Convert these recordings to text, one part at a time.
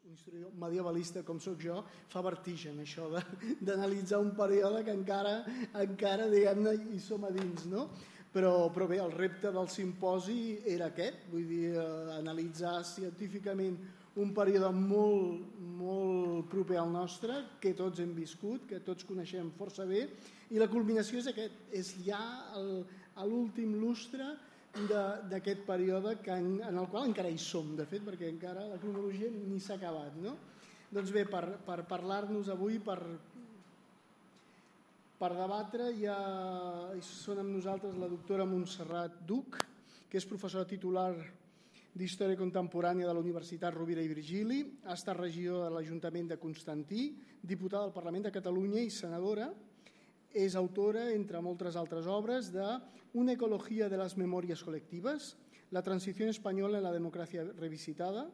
un historiador medievalista com sóc jo, fa vertigen això d'analitzar un període que encara diguem-ne, hi som a dins, no? Però bé, el repte del simposi era aquest, vull dir, analitzar científicament un període molt proper al nostre, que tots hem viscut, que tots coneixem força bé, i la culminació és aquest, és ja l'últim lustre d'aquest període en el qual encara hi som, de fet, perquè encara la cronologia ni s'ha acabat, no? Doncs bé, per parlar-nos avui, per debatre, són amb nosaltres la doctora Montserrat Duch, que és professora titular d'Història Contemporània de la Universitat Rovira i Virgili, ha estat regidora de l'Ajuntament de Constantí, diputada del Parlament de Catalunya i senadora. És autora, entre moltes altres obres, de Una ecología de las memorias colectivas, La transición española en la democracia revisitada,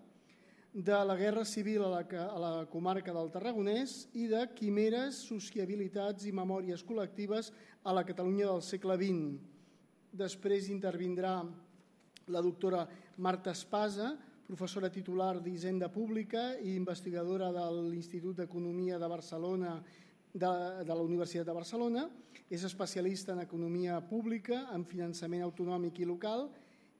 de la Guerra Civil a la comarca del Tarragonès i de Quimeres, sociabilitats i memòries col·lectives a la Catalunya del segle XX. Després intervindrà la doctora Marta Espasa, professora titular d'Hisenda Pública i investigadora de l'Institut d'Economia de Barcelona, de la Universitat de Barcelona. És especialista en economia pública, en finançament autonòmic i local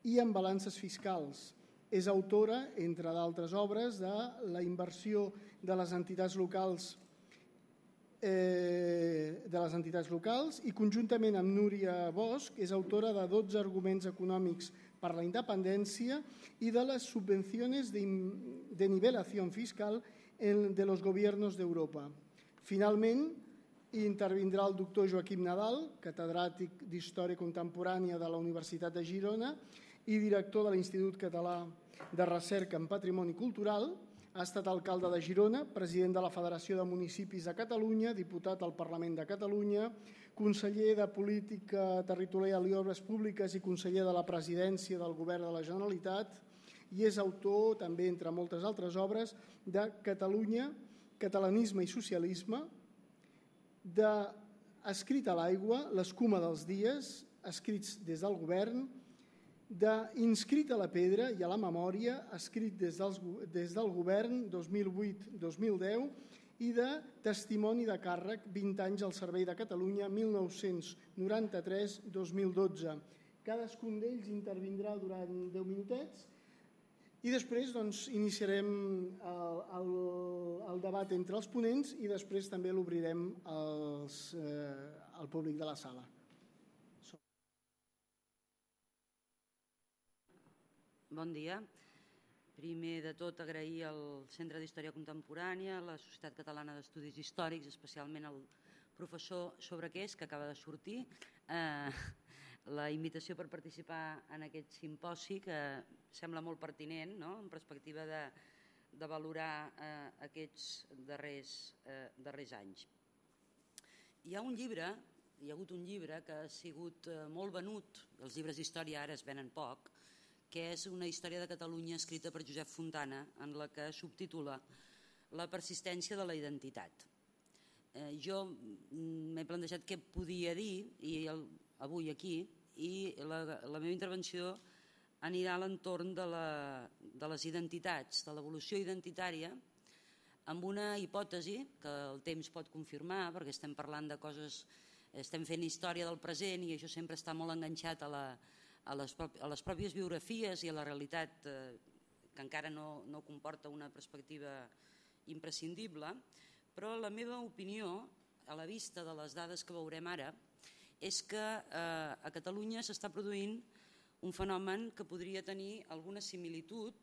i en balances fiscals. És autora, entre d'altres obres, de la inversió de les entitats locals i conjuntament amb Núria Bosch és autora de 12 arguments econòmics per la independència i de les subvenciones de nivelación fiscal de los gobiernos d'Europa. Finalment, intervindrà el doctor Joaquim Nadal, catedràtic d'Història Contemporània de la Universitat de Girona i director de l'Institut Català de Recerca en Patrimoni Cultural. Ha estat alcalde de Girona, president de la Federació de Municipis de Catalunya, diputat al Parlament de Catalunya, conseller de Política Territorial i Obres Públiques i conseller de la Presidència del Govern de la Generalitat, i és autor, també entre moltes altres obres, de Catalunya, Catalanisme i Socialisme, d'Escrit a l'aigua, l'escuma dels dies, escrits des del govern, d'Inscrit a la pedra i a la memòria, escrit des del govern 2008-2010, i de Testimoni de càrrec, 20 anys al servei de Catalunya, 1993-2012. Cadascun d'ells intervindrà durant 10 minutets i després iniciarem el debat entre els ponents i després també l'obrirem al públic de la sala. Bon dia. Primer de tot, agrair al Centre d'Història Contemporània, a la Societat Catalana d'Estudis Històrics, especialment al professor Sobrequés, que acaba de sortir, la invitació per participar en aquest simposi, que sembla molt pertinent, en perspectiva de valorar aquests darrers anys. Hi ha hagut un llibre que ha sigut molt venut, els llibres d'història ara es venen poc, que és una història de Catalunya escrita per Josep Fontana, en la que subtitula La persistència de la identitat. Jo m'he plantejat què podia dir avui aquí i la meva intervenció anirà a l'entorn de les identitats, de l'evolució identitària, amb una hipòtesi que el temps pot confirmar, perquè estem parlant de coses, estem fent història del present i això sempre està molt enganxat a les pròpies biografies i a la realitat que encara no comporta una perspectiva imprescindible, però la meva opinió, a la vista de les dades que veurem ara, és que a Catalunya s'està produint un fenomen que podria tenir alguna similitud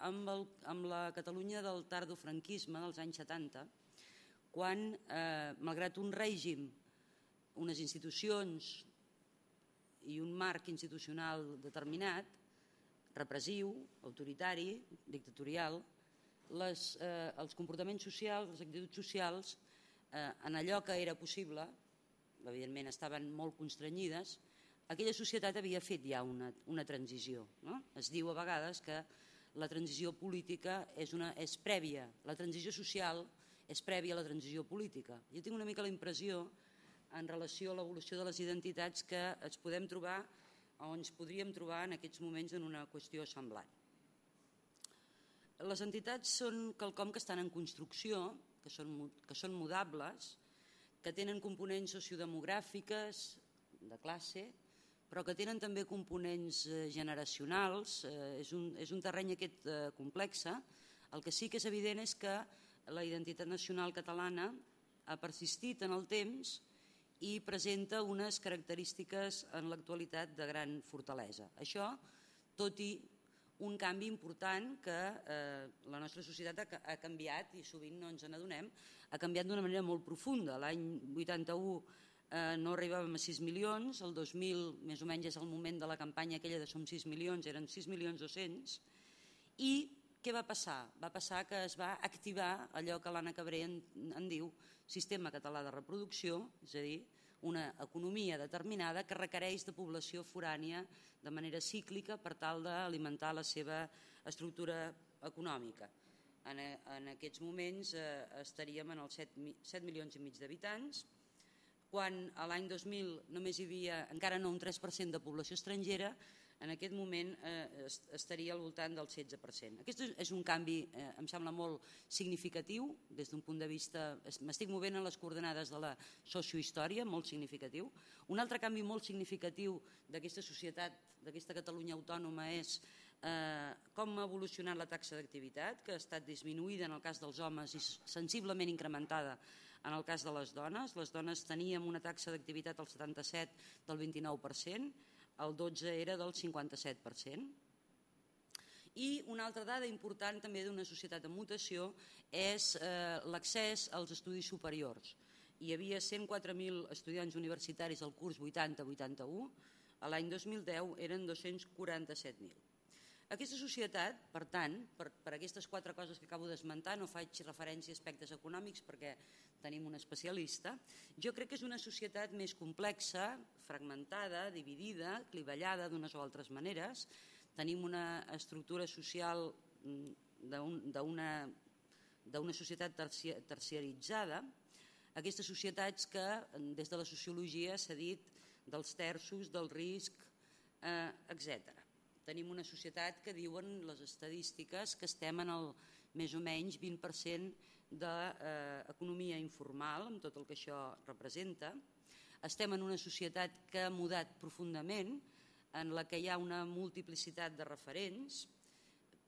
amb la Catalunya del tardofranquisme dels anys 70, quan, malgrat un règim, unes institucions i un marc institucional determinat, repressiu, autoritari, dictatorial, els comportaments socials, les actituds socials, en allò que era possible, evidentment estaven molt constrenyides, aquella societat havia fet ja una transició. Es diu a vegades que la transició política és prèvia, la transició social és prèvia a la transició política. Jo tinc una mica la impressió, en relació a l'evolució de les identitats, que ens podem trobar o ens podríem trobar en aquests moments en una qüestió semblant. Les entitats són quelcom que estan en construcció, que són mudables, que tenen components sociodemogràfiques, de classe, però que tenen també components generacionals. És un terreny aquest complex. El que sí que és evident és que la identitat nacional catalana ha persistit en el temps i presenta unes característiques en l'actualitat de gran fortalesa. Això, tot i un canvi important que la nostra societat ha canviat, i sovint no ens n'adonem, ha canviat d'una manera molt profunda. L'any 81 no arribàvem a 6 milions, el 2000 més o menys és el moment de la campanya aquella de Som 6 milions, eren 6.200.000, i què va passar? Va passar que es va activar allò que l'Anna Cabré en diu sistema català de reproducció, és a dir, una economia determinada que requereix de població forània de manera cíclica per tal d'alimentar la seva estructura econòmica. En aquests moments estaríem en els 7 milions i mig d'habitants, quan a l'any 2000 només hi havia encara no un 3% de població estrangera, en aquest moment estaria al voltant del 16%. Aquest és un canvi, em sembla, molt significatiu des d'un punt de vista... M'estic movent en les coordenades de la sociohistòria, molt significatiu. Un altre canvi molt significatiu d'aquesta societat, d'aquesta Catalunya autònoma, és com ha evolucionat la taxa d'activitat, que ha estat disminuïda en el cas dels homes i sensiblement incrementada en el cas de les dones. Les dones teníem una taxa d'activitat al 77 del 29%, el 12 era del 57%. I una altra dada important també d'una societat en mutació és l'accés als estudis superiors. Hi havia 104.000 estudiants universitaris al curs 80-81, l'any 2010 eren 247.000. Aquesta societat, per tant, per aquestes 4 coses que acabo d'esmentar, no faig referència a aspectes econòmics perquè tenim un especialista, jo crec que és una societat més complexa, fragmentada, dividida, clivellada d'unes o altres maneres. Tenim una estructura social d'una societat terciaritzada, aquestes societats que des de la sociologia s'ha dit dels terços, del risc, etc. Tenim una societat que diuen les estadístiques que estem en el més o menys 20% d'economia informal, amb tot el que això representa. Estem en una societat que ha mudat profundament, en la que hi ha una multiplicitat de referents,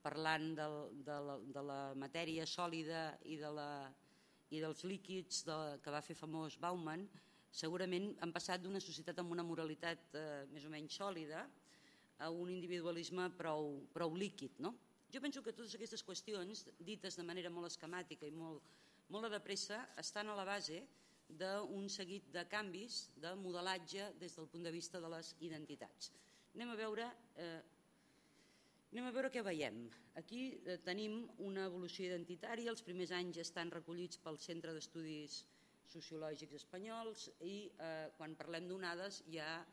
parlant de la matèria sòlida i dels líquids que va fer famós Bauman. Segurament han passat d'una societat amb una moralitat més o menys sòlida a un individualisme prou líquid. Jo penso que totes aquestes qüestions, dites de manera molt esquemàtica i molt de pressa, estan a la base d'un seguit de canvis de modelatge des del punt de vista de les identitats. Anem a veure què veiem. Aquí tenim una evolució identitària, els primers anys estan recollits pel Centre d'Estudis Sociològics Espanyols i quan parlem d'onades ja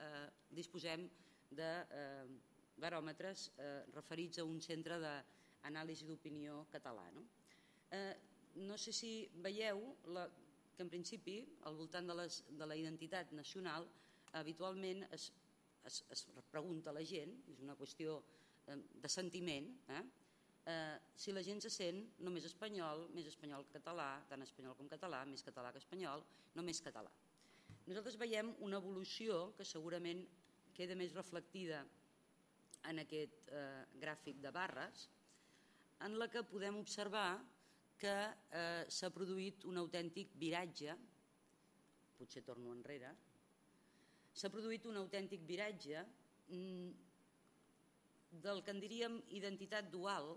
disposem de baròmetres referits a un centre d'anàlisi d'opinió català. No sé si veieu que en principi al voltant de la identitat nacional habitualment es pregunta a la gent, és una qüestió de sentiment, si la gent se sent només espanyol, més espanyol que català, tant espanyol com català, més català que espanyol, només català. Nosaltres veiem una evolució que segurament queda més reflectida en aquest gràfic de barres, en la que podem observar que s'ha produït un autèntic viratge, potser torno enrere, s'ha produït un autèntic viratge del que en diríem identitat dual,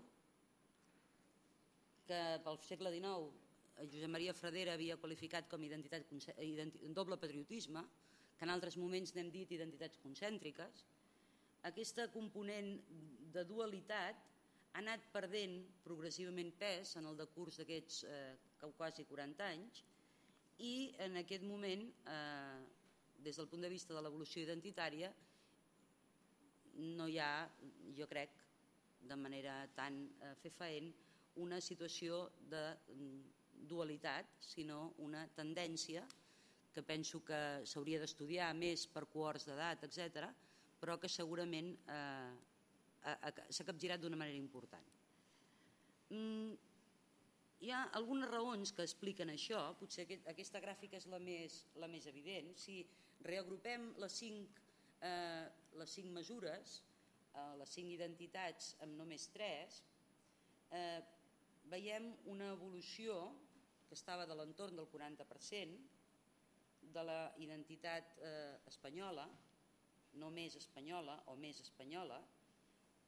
que pel segle XIX Josep Maria Fradera havia qualificat com doble patriotisme, que en altres moments n'hem dit identitats concèntriques. Aquesta component de dualitat ha anat perdent progressivament pes en el decurs d'aquests quasi 40 anys i en aquest moment, des del punt de vista de l'evolució identitària, no hi ha, jo crec, de manera tan fefaent, una situació de dualitat, sinó una tendència que penso que s'hauria d'estudiar més per cohorts d'edat, etc., però que segurament s'ha capgirat d'una manera important. Hi ha algunes raons que expliquen això, potser aquesta gràfica és la més evident. Si reagrupem les cinc mesures, les 5 identitats amb només 3, veiem una evolució que estava de l'entorn del 40% de la identitat espanyola, no més espanyola o més espanyola,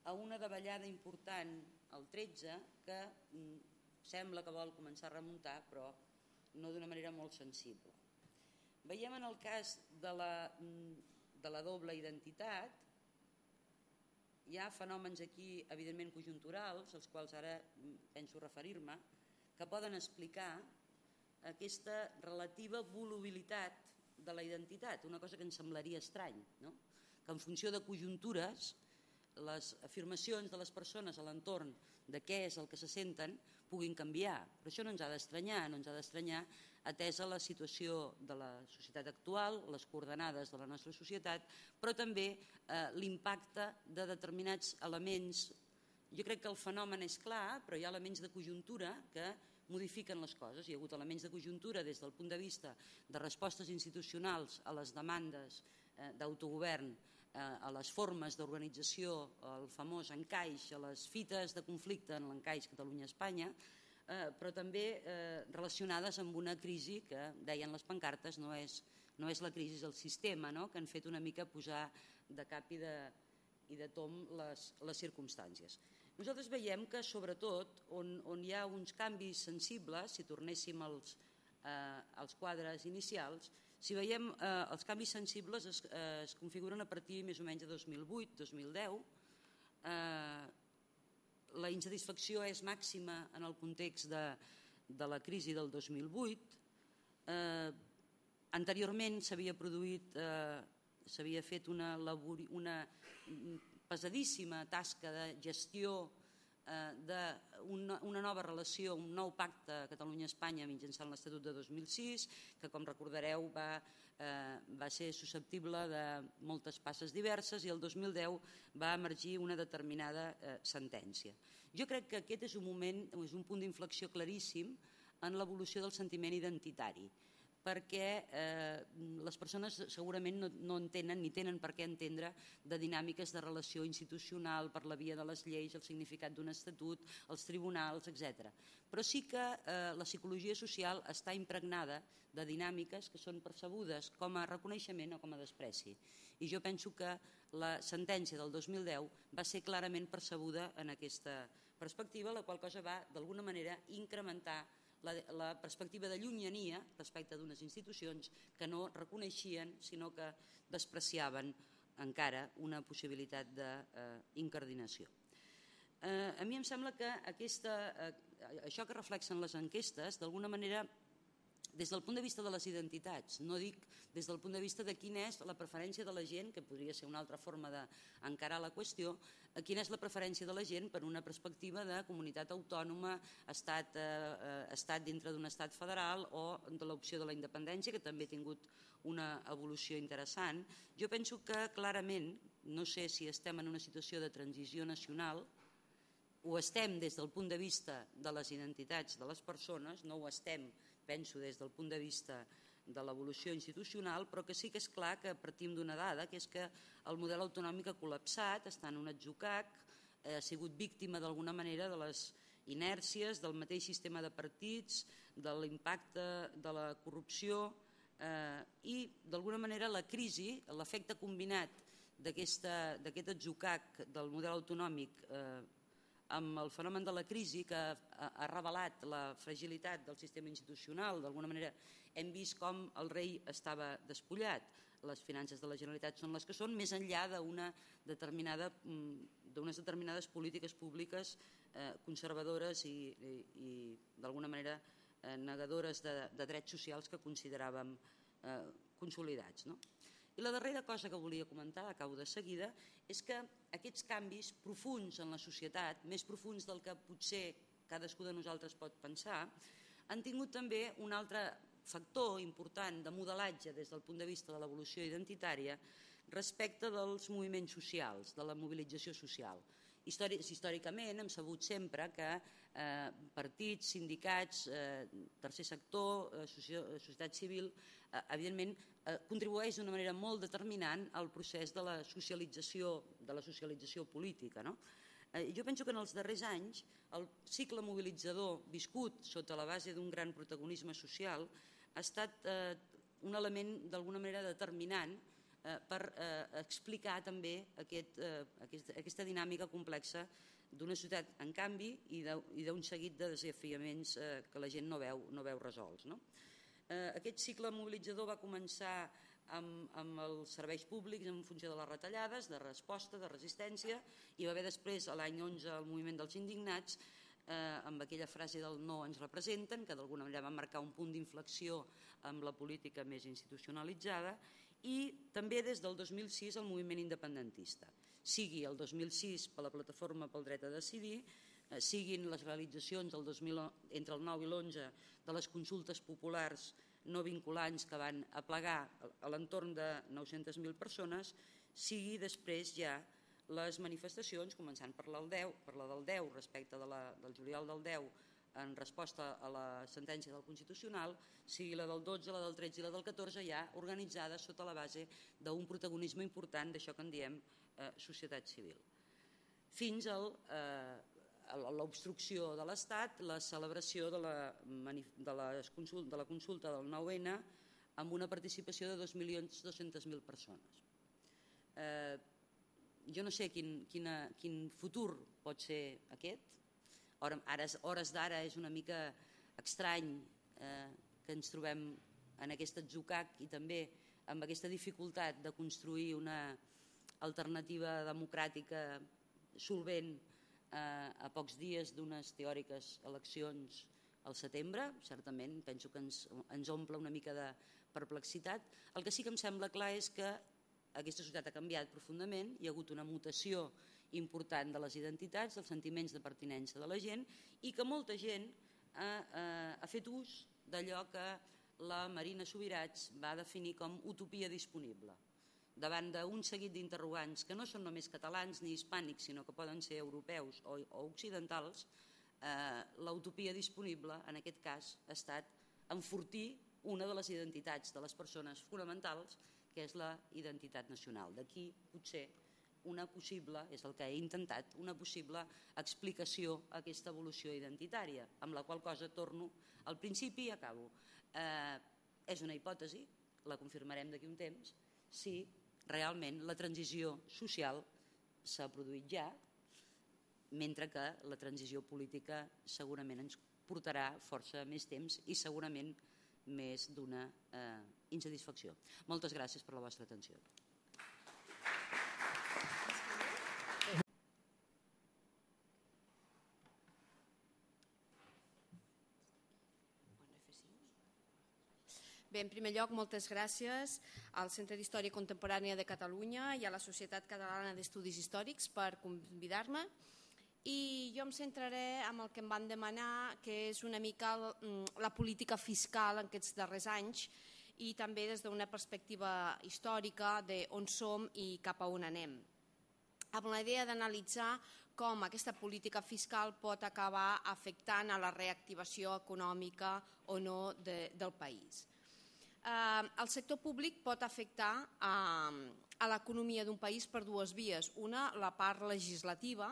a una davallada important al 13 que sembla que vol començar a remuntar, però no d'una manera molt sensible. Veiem en el cas de la doble identitat, hi ha fenòmens aquí evidentment conjunturals, als quals ara penso referir-me, que poden explicar aquesta relativa volubilitat de la identitat, una cosa que ens semblaria estrany, no? Que en funció de conjuntures les afirmacions de les persones a l'entorn de què és el que se senten puguin canviar, però això no ens ha d'estranyar, atesa la situació de la societat actual, les coordenades de la nostra societat, però també l'impacte de determinats elements. Jo crec que el fenomen és clar, però hi ha elements de conjuntura que modifiquen les coses. Hi ha hagut elements de conjuntura des del punt de vista de respostes institucionals a les demandes d'autogovern, a les formes d'organització, al famós encaix, a les fites de conflicte en l'encaix Catalunya-Espanya, però també relacionades amb una crisi que, deien les pancartes, no és la crisi del sistema, que han fet una mica posar de cap i de tom les circumstàncies. Nosaltres veiem que, sobretot, on hi ha uns canvis sensibles, si tornéssim als quadres inicials, si veiem els canvis sensibles es configuren a partir més o menys de 2008-2010. La insatisfacció és màxima en el context de la crisi del 2008. Anteriorment s'havia fet una pesadíssima tasca de gestió d'una nova relació, un nou pacte Catalunya-Espanya mitjançant l'Estatut de 2006, que, com recordareu, va ser susceptible de moltes passes diverses i el 2010 va emergir una determinada sentència. Jo crec que aquest és un punt d'inflexió claríssim en l'evolució del sentiment identitari, perquè les persones segurament no entenen ni tenen per què entendre de dinàmiques de relació institucional per la via de les lleis, el significat d'un estatut, els tribunals, etc. Però sí que la psicologia social està impregnada de dinàmiques que són percebudes com a reconeixement o com a despreci. I jo penso que la sentència del 2010 va ser clarament percebuda en aquesta perspectiva, la qual cosa va, d'alguna manera, incrementar la perspectiva de llunyania respecte d'unes institucions que no reconeixien, sinó que despreciaven encara una possibilitat d'incardinació. A mi em sembla que això que reflexen les enquestes, d'alguna manera, des del punt de vista de les identitats, no dic des del punt de vista de quina és la preferència de la gent, que podria ser una altra forma d'encarar la qüestió, quina és la preferència de la gent per una perspectiva de comunitat autònoma, estat dintre d'un estat federal o de l'opció de la independència, que també ha tingut una evolució interessant. Jo penso que clarament, no sé si estem en una situació de transició nacional, ho estem des del punt de vista de les identitats de les persones, no ho estem, penso, des del punt de vista de l'evolució institucional, però que sí que és clar que partim d'una dada, que és que el model autonòmic ha col·lapsat, està en un atzucac, ha sigut víctima d'alguna manera de les inèrcies del mateix sistema de partits, de l'impacte de la corrupció i, d'alguna manera, la crisi, l'efecte combinat d'aquest atzucac del model autonòmic amb el fenomen de la crisi, que ha revelat la fragilitat del sistema institucional. D'alguna manera hem vist com el rei estava despullat, les finances de la Generalitat són les que són, més enllà d'unes determinades polítiques públiques conservadores i d'alguna manera negadores de drets socials que consideràvem consolidats. I la darrera cosa que volia comentar, acabo de seguida, és que aquests canvis profunds en la societat, més profunds del que potser cadascú de nosaltres pot pensar, han tingut també un altre factor important de modelatge des del punt de vista de l'evolució identitària respecte dels moviments socials, de la mobilització social. Històricament hem sabut sempre que partits, sindicats, tercer sector, societat civil, evidentment contribueix d'una manera molt determinant al procés de la socialització política. Jo penso que en els darrers anys el cicle mobilitzador viscut sota la base d'un gran protagonisme social ha estat un element d'alguna manera determinant per explicar també aquesta dinàmica complexa d'una societat en canvi i d'un seguit de desafiaments que la gent no veu resolts. Aquest cicle mobilitzador va començar amb els serveis públics en funció de les retallades, de resposta, de resistència, i va haver després, l'any 11, el moviment dels indignats, amb aquella frase del no ens representen, que d'alguna manera va marcar un punt d'inflexió amb la política més institucionalitzada, i també des del 2006 el moviment independentista. Sigui el 2006 per la Plataforma pel Dret a Decidir, siguin les realitzacions entre el 9 i l'11 de les consultes populars no vinculants que van aplegar a l'entorn de 900.000 persones, sigui després ja les manifestacions, començant per la del 10 respecte del juliol del 10 en resposta a la sentència del Constitucional, sigui la del 12, la del 13 i la del 14 ja organitzades sota la base d'un protagonisme important d'això que en diem societat civil. Fins a l'obstrucció de l'Estat, la celebració de la consulta del 9N amb una participació de 2.200.000 persones. Jo no sé quin futur pot ser aquest. Hores d'ara és una mica estrany que ens trobem en aquest atzucac i també amb aquesta dificultat de construir una alternativa democràtica solvent a pocs dies d'unes teòriques eleccions al setembre. Certament, penso que ens omple una mica de perplexitat. El que sí que em sembla clar és que aquesta societat ha canviat profundament, hi ha hagut una mutació important de les identitats, dels sentiments de pertinença de la gent i que molta gent ha fet ús d'allò que la Marina Subirats va definir com utopia disponible. Davant d'un seguit d'interrogants que no són només catalans ni hispànics, sinó que poden ser europeus o occidentals, la utopia disponible en aquest cas ha estat enfortir una de les identitats de les persones fonamentals, que és la identitat nacional. D'aquí potser una possible, és el que he intentat, una possible explicació a aquesta evolució identitària, amb la qual cosa torno al principi i acabo. És una hipòtesi, la confirmarem d'aquí un temps, si realment la transició social s'ha produït ja, mentre que la transició política segurament ens portarà força més temps i segurament més d'una insatisfacció. Moltes gràcies per la vostra atenció. Bé, en primer lloc, moltes gràcies al Centre d'Història Contemporània de Catalunya i a la Societat Catalana d'Estudis Històrics per convidar-me. I jo em centraré en el que em van demanar, que és una mica la política fiscal en aquests darrers anys i també des d'una perspectiva històrica d'on som i cap a on anem, amb la idea d'analitzar com aquesta política fiscal pot acabar afectant a la reactivació econòmica o no del país. El sector públic pot afectar a l'economia d'un país per dues vies. Una, la part legislativa,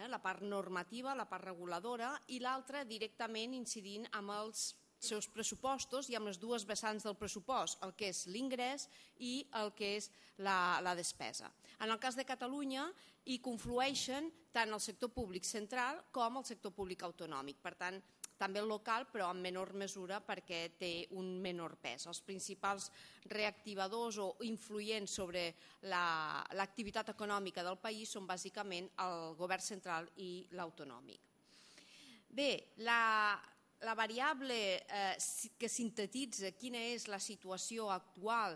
la part normativa, la part reguladora, i l'altra directament incidint amb els seus pressupostos i amb les dues vessants del pressupost, el que és l'ingrés i el que és la despesa. En el cas de Catalunya hi conflueixen tant el sector públic central com el sector públic autonòmic, per tant, també el local, però en menor mesura perquè té un menor pes. Els principals reactivadors o influents sobre l'activitat econòmica del país són bàsicament el govern central i l'autonòmic. Bé, la variable que sintetitza quina és la situació actual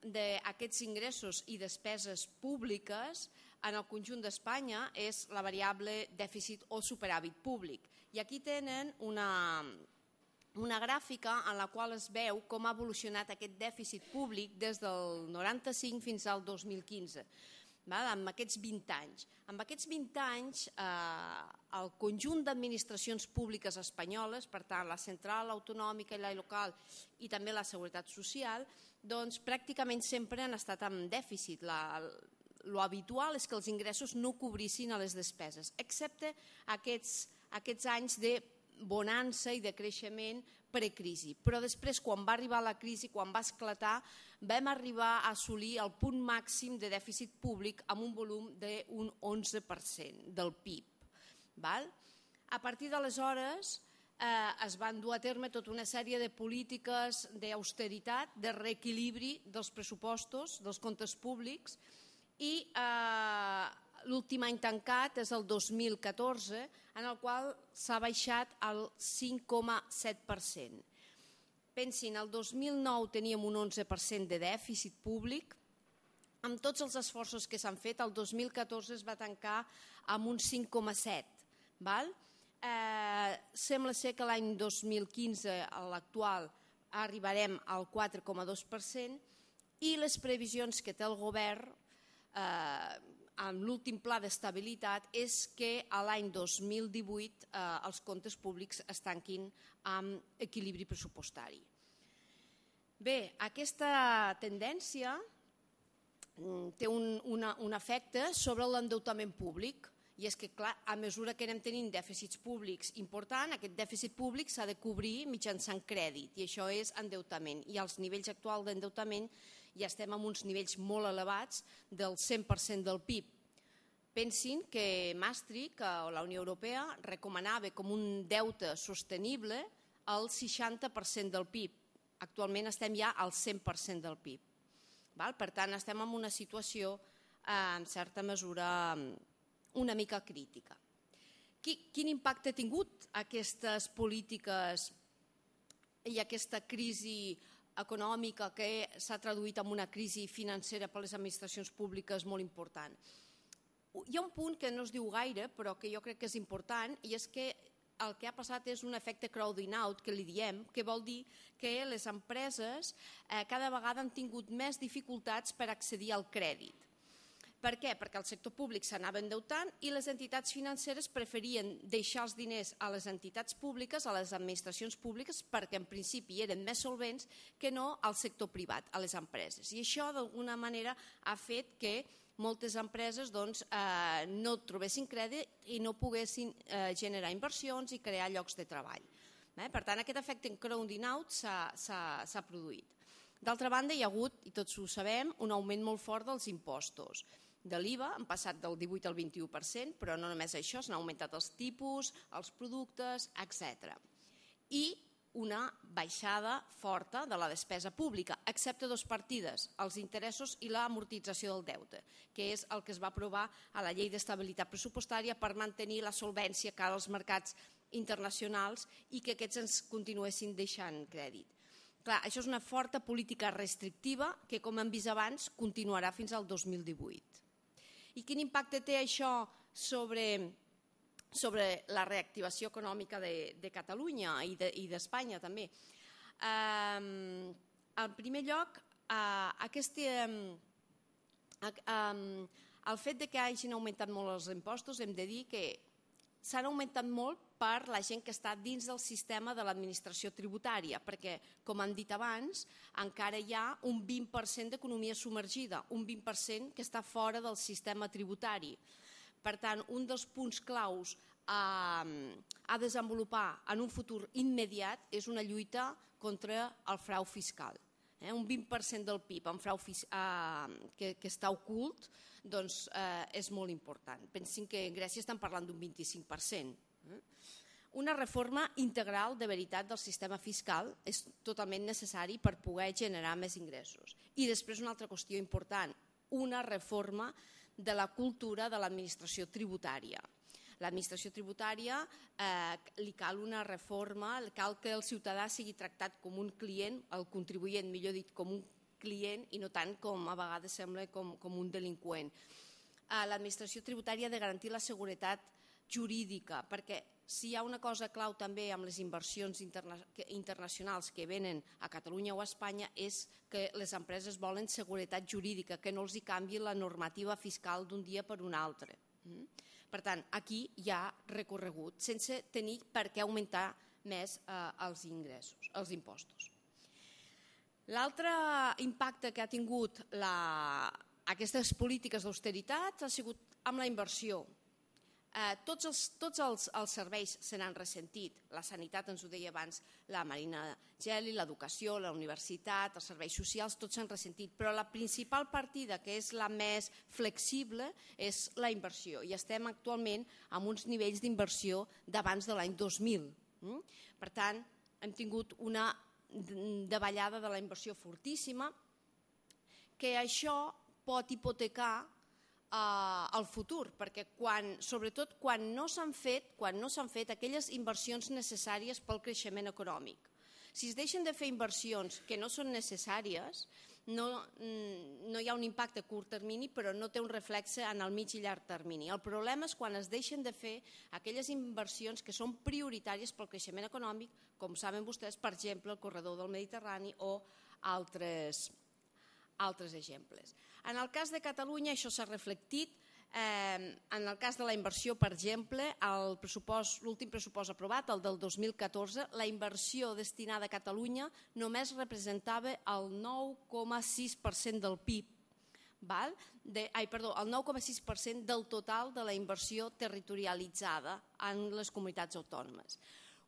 d'aquests ingressos i despeses públiques en el conjunt d'Espanya és la variable dèficit o superàvit públic. I aquí tenen una gràfica en la qual es veu com ha evolucionat aquest dèficit públic des del 95 fins al 2015. amb aquests 20 anys. En aquests 20 anys, el conjunt d'administracions públiques espanyoles, per tant, la central, l'autonòmica i la local i també la seguretat social, doncs pràcticament sempre han estat en dèficit. Lo habitual és que els ingressos no cobrissin a les despeses, excepte aquests anys de bonança i de creixement precrisi. Però després, quan va arribar la crisi, quan va esclatar, vam arribar a assolir el punt màxim de dèficit públic amb un volum d'un 11% del PIB. A partir d'aleshores es van dur a terme tota una sèrie de polítiques d'austeritat, de reequilibri dels pressupostos, dels comptes públics, i l'últim any tancat és el 2014, en el qual s'ha baixat al 5,7%. Pensin, el 2009 teníem un 11% de dèficit públic. Amb tots els esforços que s'han fet, el 2014 es va tancar amb un 5,7%. Sembla ser que l'any 2015, a l'actual, arribarem al 4,2% i les previsions que té el govern amb l'últim pla d'estabilitat és que a l'any 2018 els comptes públics es tanquin amb equilibri pressupostari. Bé, aquesta tendència té un efecte sobre l'endeutament públic i és que, clar, a mesura que anem tenint dèficits públics importants, aquest dèficit públic s'ha de cobrir mitjançant crèdit i això és endeutament. I als nivells actuals d'endeutament ja estem en uns nivells molt elevats del 100% del PIB. Pensin que Maastricht, o la Unió Europea, recomanava com un deute sostenible el 60% del PIB. Actualment estem ja al 100% del PIB. Per tant, estem en una situació, en certa mesura, una mica crítica. Quin impacte ha tingut aquestes polítiques i aquesta crisi econòmica que s'ha traduït en una crisi financera per a les administracions públiques molt important? Hi ha un punt que no es diu gaire, però que jo crec que és important, i és que el que ha passat és un efecte crowding out, que li diem, que vol dir que les empreses cada vegada han tingut més dificultats per accedir al crèdit. Per què? Perquè el sector públic s'anava endeutant i les entitats financeres preferien deixar els diners a les entitats públiques, a les administracions públiques, perquè en principi eren més solvents que no al sector privat, a les empreses. I això d'alguna manera ha fet que moltes empreses no trobessin crèdit i no poguessin generar inversions i crear llocs de treball. Per tant, aquest efecte en crowding out s'ha produït. D'altra banda, hi ha hagut, i tots ho sabem, un augment molt fort dels impostos. De l'IVA han passat del 18 al 21%, però no només això, s'han augmentat els tipus, els productes, etc. I una baixada forta de la despesa pública, excepte dues partides, els interessos i l'amortització del deute, que és el que es va aprovar a la Llei d'Estabilitat Pressupostària per mantenir la solvència cara als mercats internacionals i que aquests ens continuessin deixant crèdit. Clar, això és una forta política restrictiva que, com hem vist abans, continuarà fins al 2018. I quin impacte té això sobre la reactivació econòmica de Catalunya i d'Espanya també? En primer lloc, el fet que hagin augmentat molt els impostos, hem de dir que s'han augmentat molt per la gent que està dins del sistema de l'administració tributària, perquè, com hem dit abans, encara hi ha un 20% d'economia submergida, un 20% que està fora del sistema tributari. Per tant, un dels punts claus a desenvolupar en un futur immediat és una lluita contra el frau fiscal. Un 20% del PIB en frau que està ocult és molt important. Pensin que en Grècia estan parlant d'un 25%. Una reforma integral de veritat del sistema fiscal és totalment necessari per poder generar més ingressos. I després una altra qüestió important, una reforma de la cultura de l'administració tributària. L'administració tributària li cal una reforma, cal que el ciutadà sigui tractat com un client, el contribuent, millor dit, com un client i no tant com a vegades sembla com un delinqüent. L'administració tributària ha de garantir la seguretat jurídica, perquè si hi ha una cosa clau també amb les inversions internacionals que venen a Catalunya o a Espanya és que les empreses volen seguretat jurídica, que no els hi canvi la normativa fiscal d'un dia per un altre. Per tant, aquí hi ha recorregut, sense tenir per què augmentar més els ingressos, els impostos. L'altre impacte que ha tingut aquestes polítiques d'austeritat ha sigut amb la inversió. Tots els serveis se n'han ressentit. La sanitat, ens ho deia abans la Marina Geli, l'educació, la universitat, els serveis socials, tots s'han ressentit. Però la principal partida, que és la més flexible, és la inversió. I estem actualment amb uns nivells d'inversió d'abans de l'any 2000. Per tant, hem tingut una davallada de la inversió fortíssima, que això pot hipotecar al futur, perquè sobretot quan no s'han fet aquelles inversions necessàries pel creixement econòmic. Si es deixen de fer inversions que no són necessàries, no hi ha un impacte a curt termini, però no té un reflexe en el mig i llarg termini. El problema és quan es deixen de fer aquelles inversions que són prioritàries pel creixement econòmic, com saben vostès, per exemple, el corredor del Mediterrani o altres exemples. En el cas de Catalunya això s'ha reflectit. En el cas de la inversió, per exemple, l'últim pressupost aprovat, el del 2014, la inversió destinada a Catalunya només representava el 9,6% del PIB, el 9,6% del total de la inversió territorialitzada en les comunitats autònomes,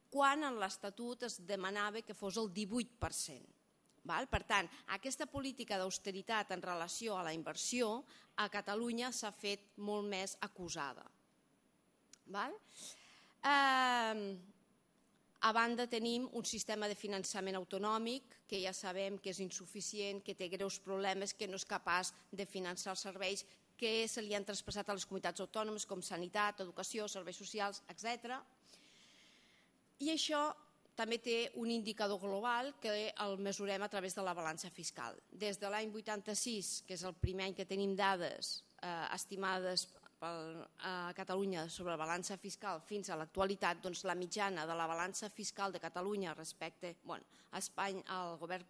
quan en l'Estatut es demanava que fos el 18%. Per tant, aquesta política d'austeritat en relació a la inversió a Catalunya s'ha fet molt més acusada. A banda tenim un sistema de finançament autonòmic que ja sabem que és insuficient, que té greus problemes, que no és capaç de finançar els serveis que se li han traspassat a les comunitats autònomes com sanitat, educació, serveis socials, etc. I això també té un indicador global que el mesurem a través de la balança fiscal. Des de l'any 86, que és el primer any que tenim dades estimades a Catalunya sobre la balança fiscal fins a l'actualitat, doncs la mitjana de la balança fiscal de Catalunya respecte a Espanya, al govern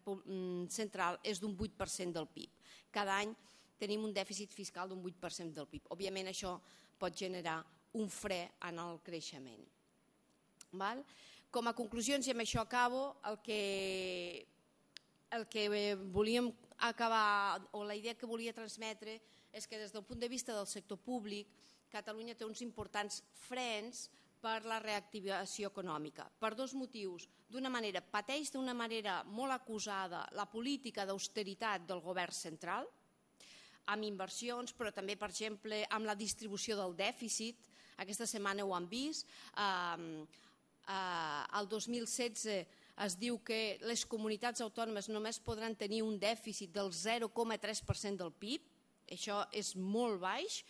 central, és d'un 8% del PIB. Cada any tenim un dèficit fiscal d'un 8% del PIB. Òbviament això pot generar un fre en el creixement. Com a conclusions, i amb això acabo, el que volíem acabar, o la idea que volia transmetre, és que des del punt de vista del sector públic, Catalunya té uns importants frens per la reactivació econòmica, per dos motius. Pateix d'una manera molt acusada la política d'austeritat del govern central, amb inversions, però també, per exemple, amb la distribució del dèficit. Aquesta setmana ho han vist. El 2016 es diu que les comunitats autònomes només podran tenir un dèficit del 0,3% del PIB. Això és molt baix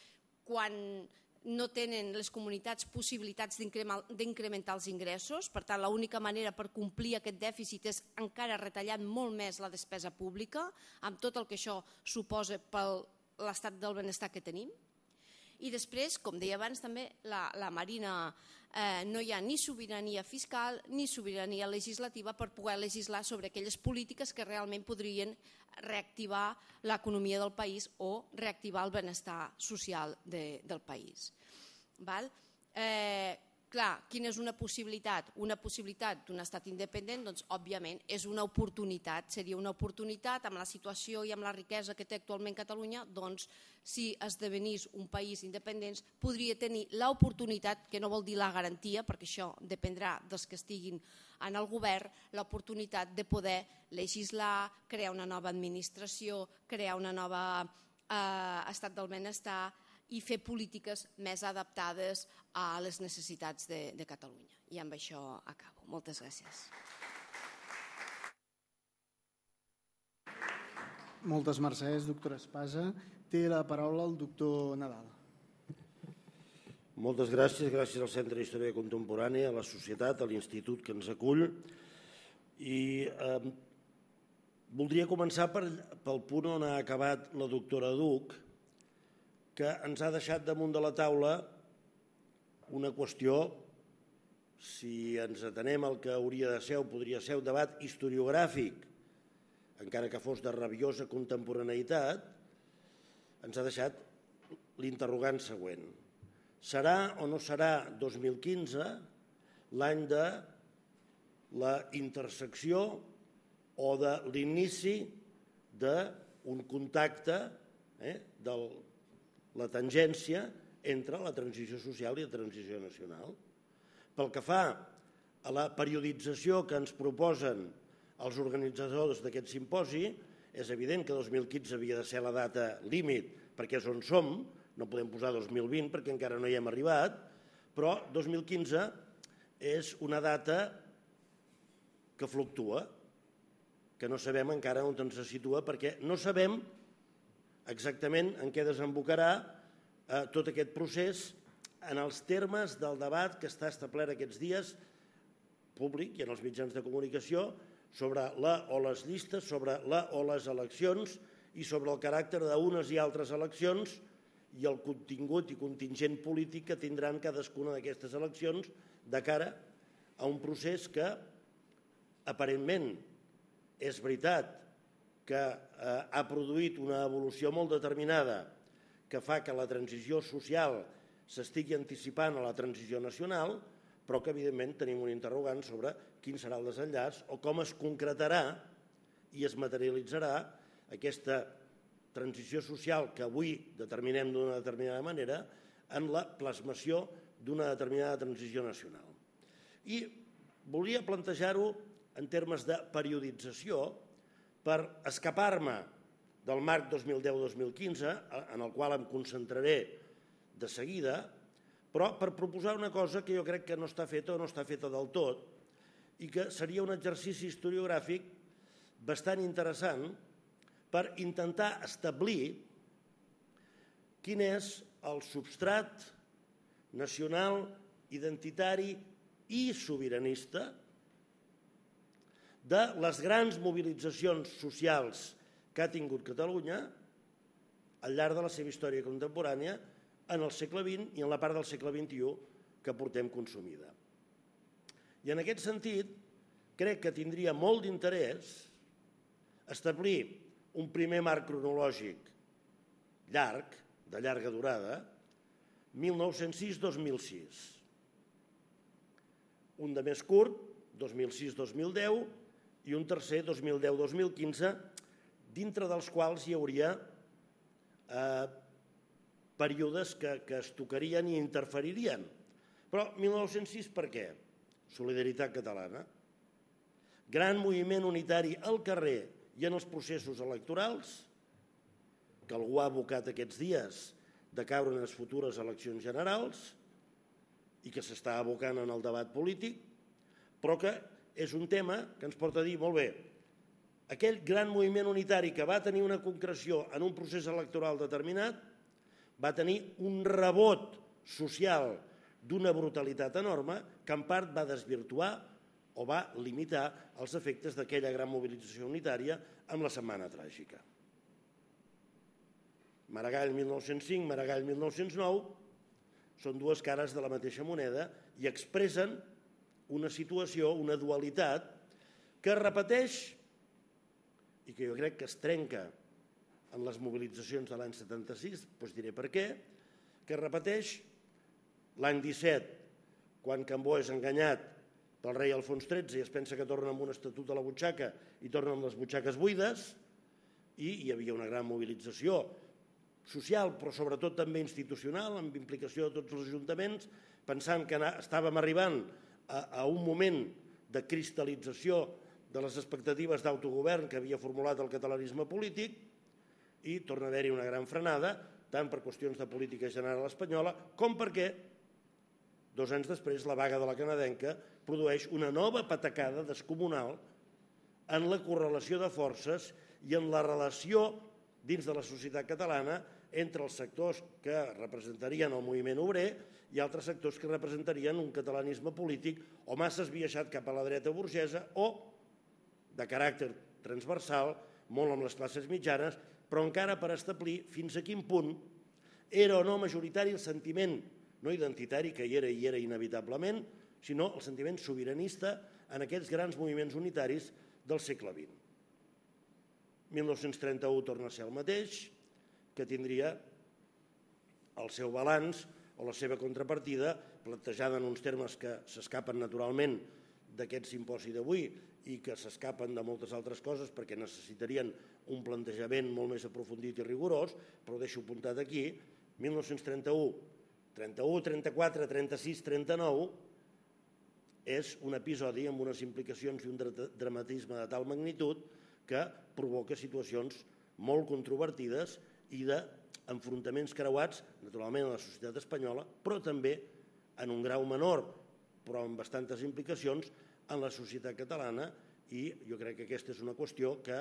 quan no tenen les comunitats possibilitats d'incrementar els ingressos. Per tant, l'única manera per complir aquest dèficit és encara retallant molt més la despesa pública, amb tot el que això suposa per l'estat del benestar que tenim. I després, com deia abans també, la Marina, no hi ha ni sobirania fiscal ni sobirania legislativa per poder legislar sobre aquelles polítiques que realment podrien reactivar l'economia del país o reactivar el benestar social del país. Clar, quina és una possibilitat? Una possibilitat d'un estat independent, doncs, òbviament, és una oportunitat. Seria una oportunitat amb la situació i amb la riquesa que té actualment Catalunya, doncs, si esdevenís un país independent, podria tenir l'oportunitat, que no vol dir la garantia, perquè això dependrà dels que estiguin en el govern, l'oportunitat de poder legislar, crear una nova administració, crear una nova estat del benestar, i fer polítiques més adaptades a les necessitats de Catalunya. I amb això acabo. Moltes gràcies. Moltes mercès, doctora Espasa. Té la paraula el doctor Nadal. Moltes gràcies. Gràcies al Centre d'Història Contemporània, a la societat, a l'institut que ens acull. I voldria començar pel punt on ha acabat la doctora Duch, que ens ha deixat damunt de la taula una qüestió, si ens atenem al que hauria de ser o podria ser un debat historiogràfic, encara que fos de rabiosa contemporaneïtat, ens ha deixat l'interrogant següent. Serà o no serà 2015 l'any de la intersecció o de l'inici d'un contacte de la tangència entre la transició social i la transició nacional. Pel que fa a la periodització que ens proposen els organitzadors d'aquest simposi, és evident que 2015 havia de ser la data límit perquè és on som, no podem posar 2020 perquè encara no hi hem arribat, però 2015 és una data que fluctua, que no sabem encara on ens situa perquè no sabem exactament en què desembocarà tot aquest procés en els termes del debat que està establert aquests dies públic i en els mitjans de comunicació sobre la o les llistes, sobre la o les eleccions i sobre el caràcter d'unes i altres eleccions i el contingut i contingent polític que tindran cadascuna d'aquestes eleccions de cara a un procés que aparentment és veritat que ha produït una evolució molt determinada que fa que la transició social s'estigui anticipant a la transició nacional, però que evidentment tenim un interrogant sobre quin serà el desenllaç o com es concretarà i es materialitzarà aquesta transició social que avui determinem d'una determinada manera en la plasmació d'una determinada transició nacional. I volia plantejar-ho en termes de periodització per escapar-me del marc 2010-2015, en el qual em concentraré de seguida, però per proposar una cosa que jo crec que no està feta o no està feta del tot i que seria un exercici historiogràfic bastant interessant per intentar establir quin és el substrat nacional, identitari i sobiranista de les grans mobilitzacions socials que ha tingut Catalunya al llarg de la seva història contemporània en el segle XX i en la part del segle XXI que portem consumida. I en aquest sentit, crec que tindria molt d'interès establir un primer marc cronològic llarg, de llarga durada, 1906-2006. Un de més curt, 2006-2010, i un tercer, 2010-2015, dintre dels quals hi hauria períodes que es tocarien i interferirien. Però 1906 per què? Solidaritat catalana. Gran moviment unitari al carrer i en els processos electorals, que algú ha abocat aquests dies de caure en les futures eleccions generals i que s'està abocant en el debat polític, però que és un tema que ens porta a dir, molt bé, aquell gran moviment unitari que va tenir una concreció en un procés electoral determinat va tenir un rebot social d'una brutalitat enorme que en part va desvirtuar o va limitar els efectes d'aquella gran mobilització unitària amb la Setmana Tràgica. Maragall 1905, Maragall 1909 són dues cares de la mateixa moneda i expressen una situació, una dualitat que es repeteix i que jo crec que es trenca en les mobilitzacions de l'any 76, doncs diré per què, que es repeteix l'any 17, quan Cambó és enganyat pel rei Alfons XIII i es pensa que torna amb un estatut a la butxaca i torna amb les butxaques buides, i hi havia una gran mobilització social, però sobretot també institucional, amb implicació de tots els ajuntaments, pensant que estàvem arribant a un moment de cristal·lització de les expectatives d'autogovern que havia formulat el catalanisme polític i torna a haver-hi una gran frenada, tant per qüestions de política general espanyola com perquè 2 anys després la vaga de la canadenca produeix una nova patacada descomunal en la correlació de forces i en la relació dins de la societat catalana entre els sectors que representarien el moviment obrer i altres sectors que representarien un catalanisme polític o massa esbiaixat cap a la dreta burgesa o de caràcter transversal, molt amb les classes mitjanes, però encara per establir fins a quin punt era o no majoritari el sentiment no identitari, que hi era inevitablement, sinó el sentiment sobiranista en aquests grans moviments unitaris del segle XX. 1931 torna a ser el mateix, que tindria el seu balanç o la seva contrapartida plantejada en uns termes que s'escapen naturalment d'aquest simposi d'avui i que s'escapen de moltes altres coses perquè necessitarien un plantejament molt més aprofundit i rigorós, però ho deixo apuntat aquí. 1931, 31, 34, 36, 39 és un episodi amb unes implicacions i un dramatisme de tal magnitud que provoca situacions molt controvertides i d'enfrontaments creuats, naturalment, a la societat espanyola, però també en un grau menor, però amb bastantes implicacions, en la societat catalana, i jo crec que aquesta és una qüestió que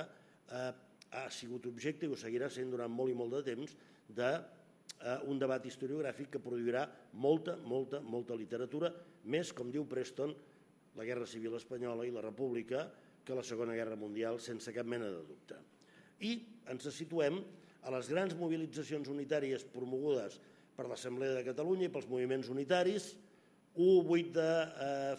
ha sigut objecte i ho seguirà sent durant molt i molt de temps d'un debat historiogràfic que produirà molta literatura, més, com diu Preston, la Guerra Civil Espanyola i la República, que la Segona Guerra Mundial, sense cap mena de dubte. I ens situem a les grans mobilitzacions unitàries promogudes per l'Assemblea de Catalunya i pels moviments unitaris, 1-8 de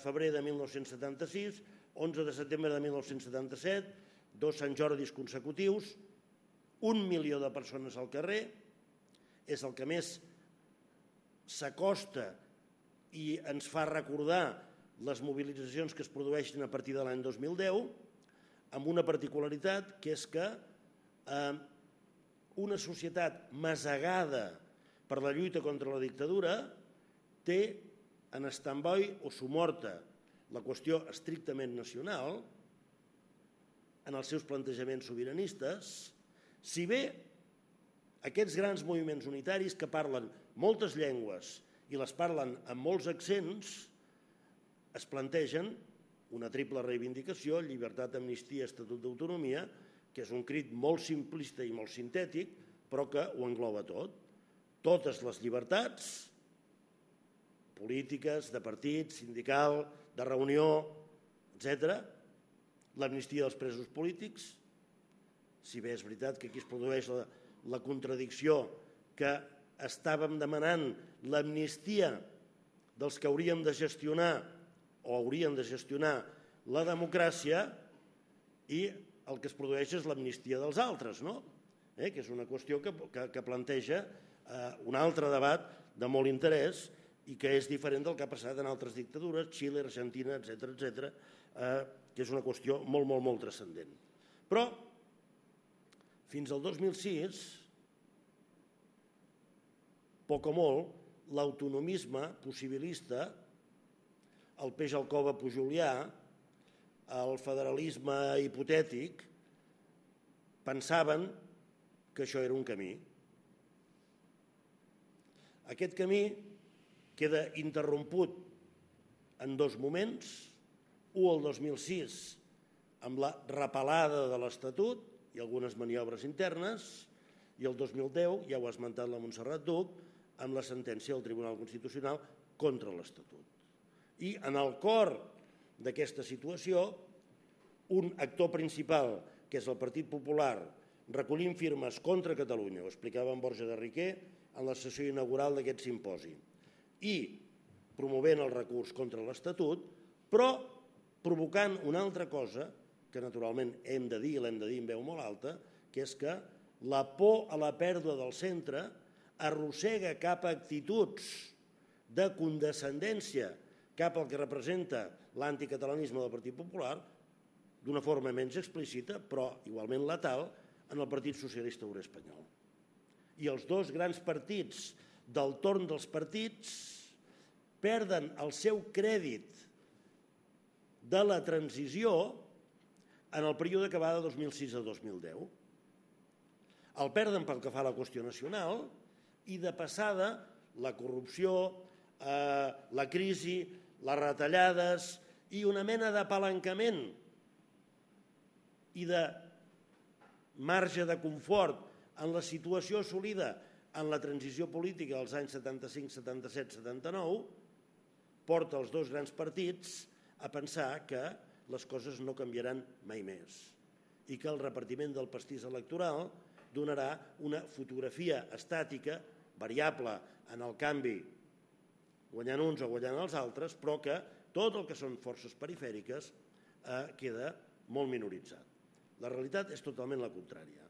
febrer de 1976, 11 de setembre de 1977, 2 Sant Jordis consecutius, 1 milió de persones al carrer, és el que més s'acosta i ens fa recordar les mobilitzacions que es produeixen a partir de l'any 2010, amb una particularitat que és que una societat masegada per la lluita contra la dictadura té en stand-by o somorta la qüestió estrictament nacional en els seus plantejaments sobiranistes, si bé aquests grans moviments unitaris que parlen moltes llengües i les parlen amb molts accents es plantegen una triple reivindicació, llibertat, amnistia, estatut d'autonomia, que és un crit molt simplista i molt sintètic, però que ho engloba tot. Totes les llibertats polítiques, de partit, sindical, de reunió, etc. L'amnistia dels presos polítics, si bé és veritat que aquí es produeix la contradicció que estàvem demanant l'amnistia dels que hauríem de gestionar o haurien de gestionar la democràcia i el que es produeix és l'amnistia dels altres, no? Que és una qüestió que planteja un altre debat de molt interès i que és diferent del que ha passat en altres dictadures, Xile, Argentina, etc., que és una qüestió molt transcendent. Però, fins al 2006, poc o molt, l'autonomisme possibilista, el peix al cova pujolià, el federalisme hipotètic, pensaven que això era un camí. Aquest camí queda interromput en dos moments, un el 2006 amb la repelada de l'Estatut i algunes maniobres internes, i el 2010, ja ho ha esmentat la Montserrat Duch, amb la sentència del Tribunal Constitucional contra l'Estatut. I en el cor d'aquesta situació, un actor principal, que és el Partit Popular, recollint firmes contra Catalunya, ho explicava en Borja de Riquer en la sessió inaugural d'aquest simposi, i promovent el recurs contra l'Estatut, però provocant una altra cosa, que naturalment hem de dir, i l'hem de dir en veu molt alta, que és que la por a la pèrdua del centre arrossega cap a actituds de condescendència cap al que representa l'anticatalanisme del Partit Popular, d'una forma menys explícita, però igualment letal, en el Partit Socialista Obrer Espanyol. I els dos grans partits del torn dels partits perden el seu crèdit de la transició en el període que va de 2006 a 2010. El perden pel que fa a la qüestió nacional i de passada la corrupció, la crisi, les retallades i una mena d'apalancament i de marge de confort en la situació assolida en la transició política dels anys 75, 77, 79 porta els dos grans partits a pensar que les coses no canviaran mai més i que el repartiment del pastís electoral donarà una fotografia estàtica, variable en el canvi guanyant uns o guanyant els altres, però que tot el que són forces perifèriques queda molt minoritzat. La realitat és totalment la contrària.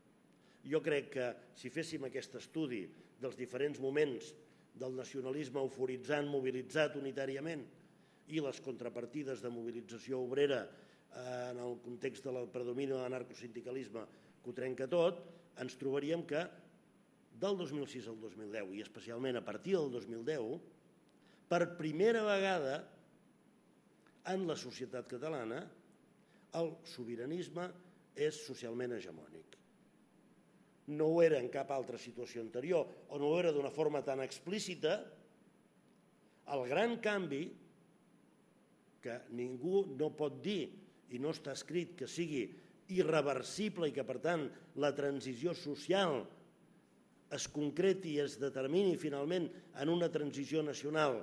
Jo crec que si féssim aquest estudi dels diferents moments del nacionalisme euforitzant, mobilitzat unitàriament, i les contrapartides de mobilització obrera en el context del predomini de l'anarcosindicalisme que ho trenca tot, ens trobaríem que del 2006 al 2010, i especialment a partir del 2010, per primera vegada en la societat catalana el sobiranisme és socialment hegemònic. No ho era en cap altra situació anterior, o no ho era d'una forma tan explícita. El gran canvi, que ningú no pot dir, i no està escrit que sigui irreversible i que, per tant, la transició social es concreti i es determini finalment en una transició nacional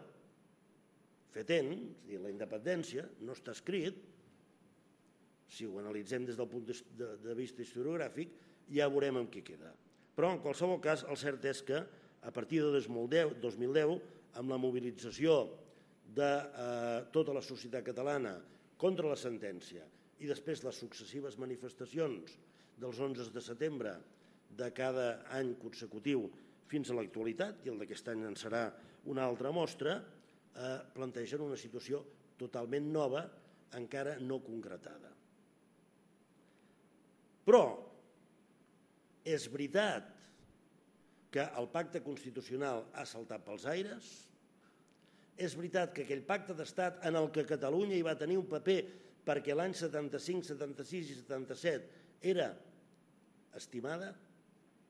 fetent, és a dir, la independència, no està escrit. Si ho analitzem des del punt de vista historiogràfic, ja veurem amb què queda. Però, en qualsevol cas, el cert és que a partir de 2010, amb la mobilització de tota la societat catalana contra la sentència i després les successives manifestacions dels 11 de setembre de cada any consecutiu fins a l'actualitat, i el d'aquest any en serà una altra mostra, plantegen una situació totalment nova, encara no concretada. Però és veritat que el pacte constitucional ha saltat pels aires, és veritat que aquell pacte d'estat en el que Catalunya hi va tenir un paper perquè l'any 75, 76 i 77 era estimada,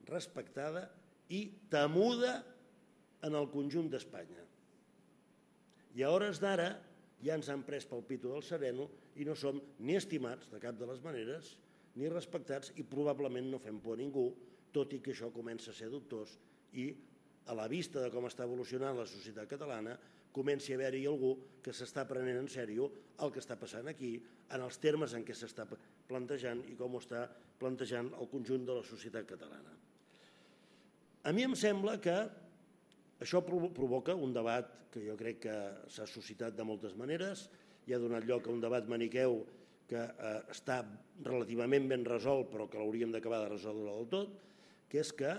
respectada i temuda en el conjunt d'Espanya. I a hores d'ara ja ens han pres pel pito del sereno i no som ni estimats de cap de les maneres ni respectats i probablement no fem por a ningú, tot i que això comença a ser dubtós i a la vista de com està evolucionant la societat catalana comenci a haver-hi algú que s'està prenent en sèrio el que està passant aquí, en els termes en què s'està plantejant i com ho està plantejant el conjunt de la societat catalana. A mi em sembla que això provoca un debat que jo crec que s'ha suscitat de moltes maneres, i ha donat lloc a un debat maniqueu que està relativament ben resolt però que l'hauríem d'acabar de resoldre del tot, que és que,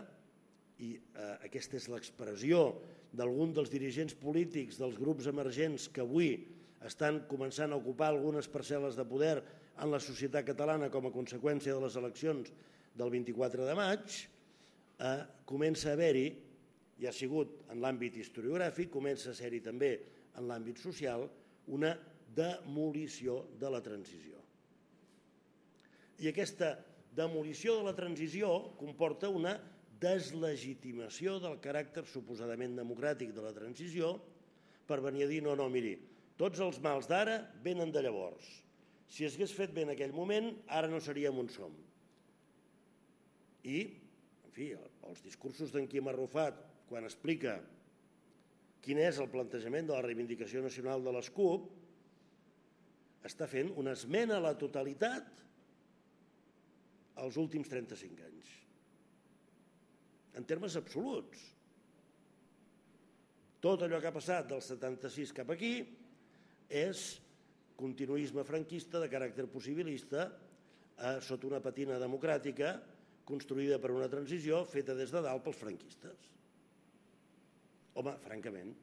i aquesta és l'expressió d'algun dels dirigents polítics dels grups emergents que avui estan començant a ocupar algunes parcel·les de poder en la societat catalana com a conseqüència de les eleccions del 24 de maig, comença a haver-hi, i ha sigut en l'àmbit historiogràfic, comença a ser-hi també en l'àmbit social, una demolició de la transició. I aquesta demolició de la transició comporta una deslegitimació del caràcter suposadament democràtic de la transició per venir a dir no, miri, tots els mals d'ara venen de llavors. Si s'hagués fet bé en aquell moment, ara no seríem on som. I, en fi, els discursos d'en Quim Arrufat, quan explica quin és el plantejament de la reivindicació nacional de les CUP, està fent una esmena a la totalitat als últims 35 anys. En termes absoluts. Tot allò que ha passat del 76 cap aquí és continuisme franquista de caràcter possibilista sota una patina democràtica construïda per una transició feta des de dalt pels franquistes. Home, francament,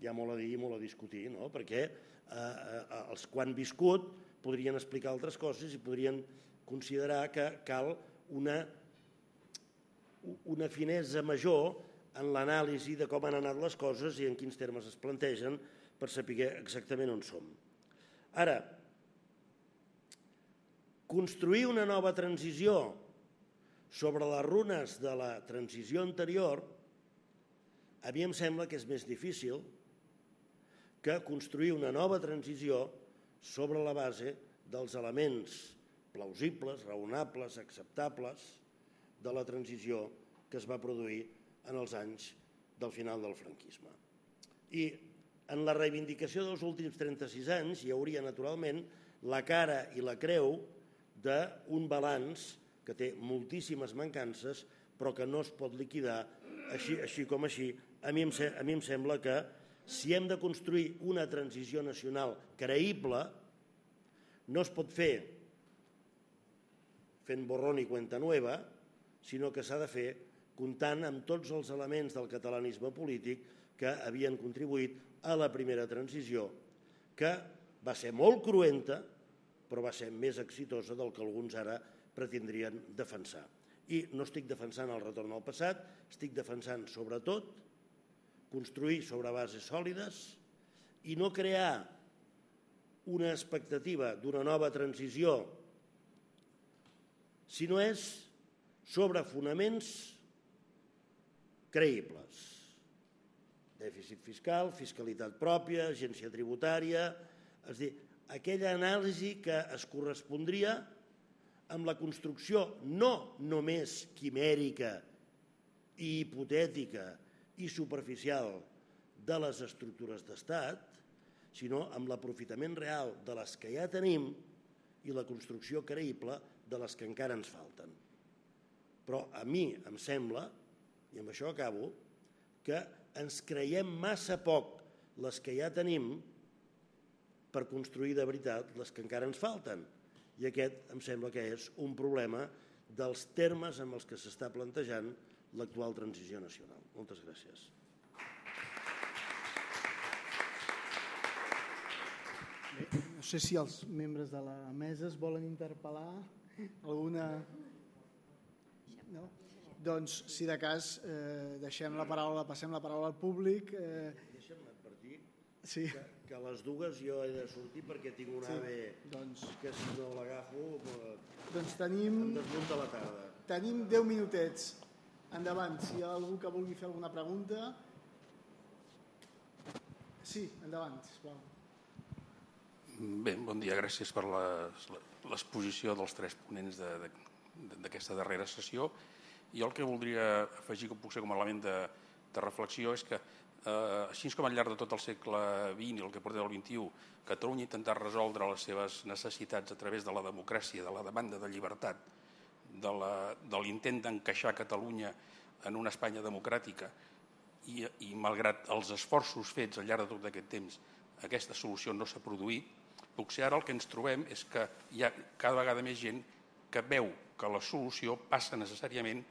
hi ha molt a dir i molt a discutir, no? Perquè els que han viscut podrien explicar altres coses i podrien considerar que cal una finesa major en l'anàlisi de com han anat les coses i en quins termes es plantegen per saber exactament on som. Ara, construir una nova transició sobre les runes de la transició anterior a mi em sembla que és més difícil que construir una nova transició sobre la base dels elements plausibles, raonables, acceptables de la transició que es va produir en els anys del final del franquisme. I en la reivindicació dels últims 36 anys hi hauria, naturalment, la cara i la creu d'un balanç que té moltíssimes mancances però que no es pot liquidar així com així. A mi em sembla que Si hem de construir una transició nacional creïble, no es pot fer fent borrón i cuenta nueva, sinó que s'ha de fer comptant amb tots els elements del catalanisme polític que havien contribuït a la primera transició, que va ser molt cruenta, però va ser més exitosa del que alguns ara pretendrien defensar. I no estic defensant el retorn al passat, estic defensant sobretot construir sobre bases sòlides i no crear una expectativa d'una nova transició, sinó és sobre fonaments creïbles. Dèficit fiscal, fiscalitat pròpia, agència tributària, és a dir, aquella anàlisi que es correspondria amb la construcció no només quimèrica i hipotètica i superficial de les estructures d'estat, sinó amb l'aprofitament real de les que ja tenim i la construcció creïble de les que encara ens falten. Però a mi em sembla, i amb això acabo, que ens creiem massa poc les que ja tenim per construir de veritat les que encara ens falten. I aquest em sembla que és un problema dels termes amb els que s'està plantejant l'actual transició nacional. Moltes gràcies. No sé si els membres de la mesa es volen interpel·lar alguna... No? Doncs, si de cas, passem la paraula al públic. Deixa'm advertir Sí. que a les dues jo he de sortir perquè tinc un AVE que si no l'agafo Doncs em desmunta la tarda. tenim 10 minutets. Endavant, si hi ha algú que vulgui fer alguna pregunta. Sí, endavant, sisplau. Bé, bon dia, gràcies per l'exposició dels tres ponents d'aquesta darrera sessió. Jo el que voldria afegir, que puc ser com a element de reflexió, és que així com al llarg de tot el segle XX i el que porta del XXI, Catalunya ha intentat resoldre les seves necessitats a través de la democràcia, de la demanda de llibertat, de l'intent d'encaixar Catalunya en una Espanya democràtica i malgrat els esforços fets al llarg de tot aquest temps, aquesta solució no s'ha produït. Potser ara el que ens trobem és que hi ha cada vegada més gent que veu que la solució passa necessàriament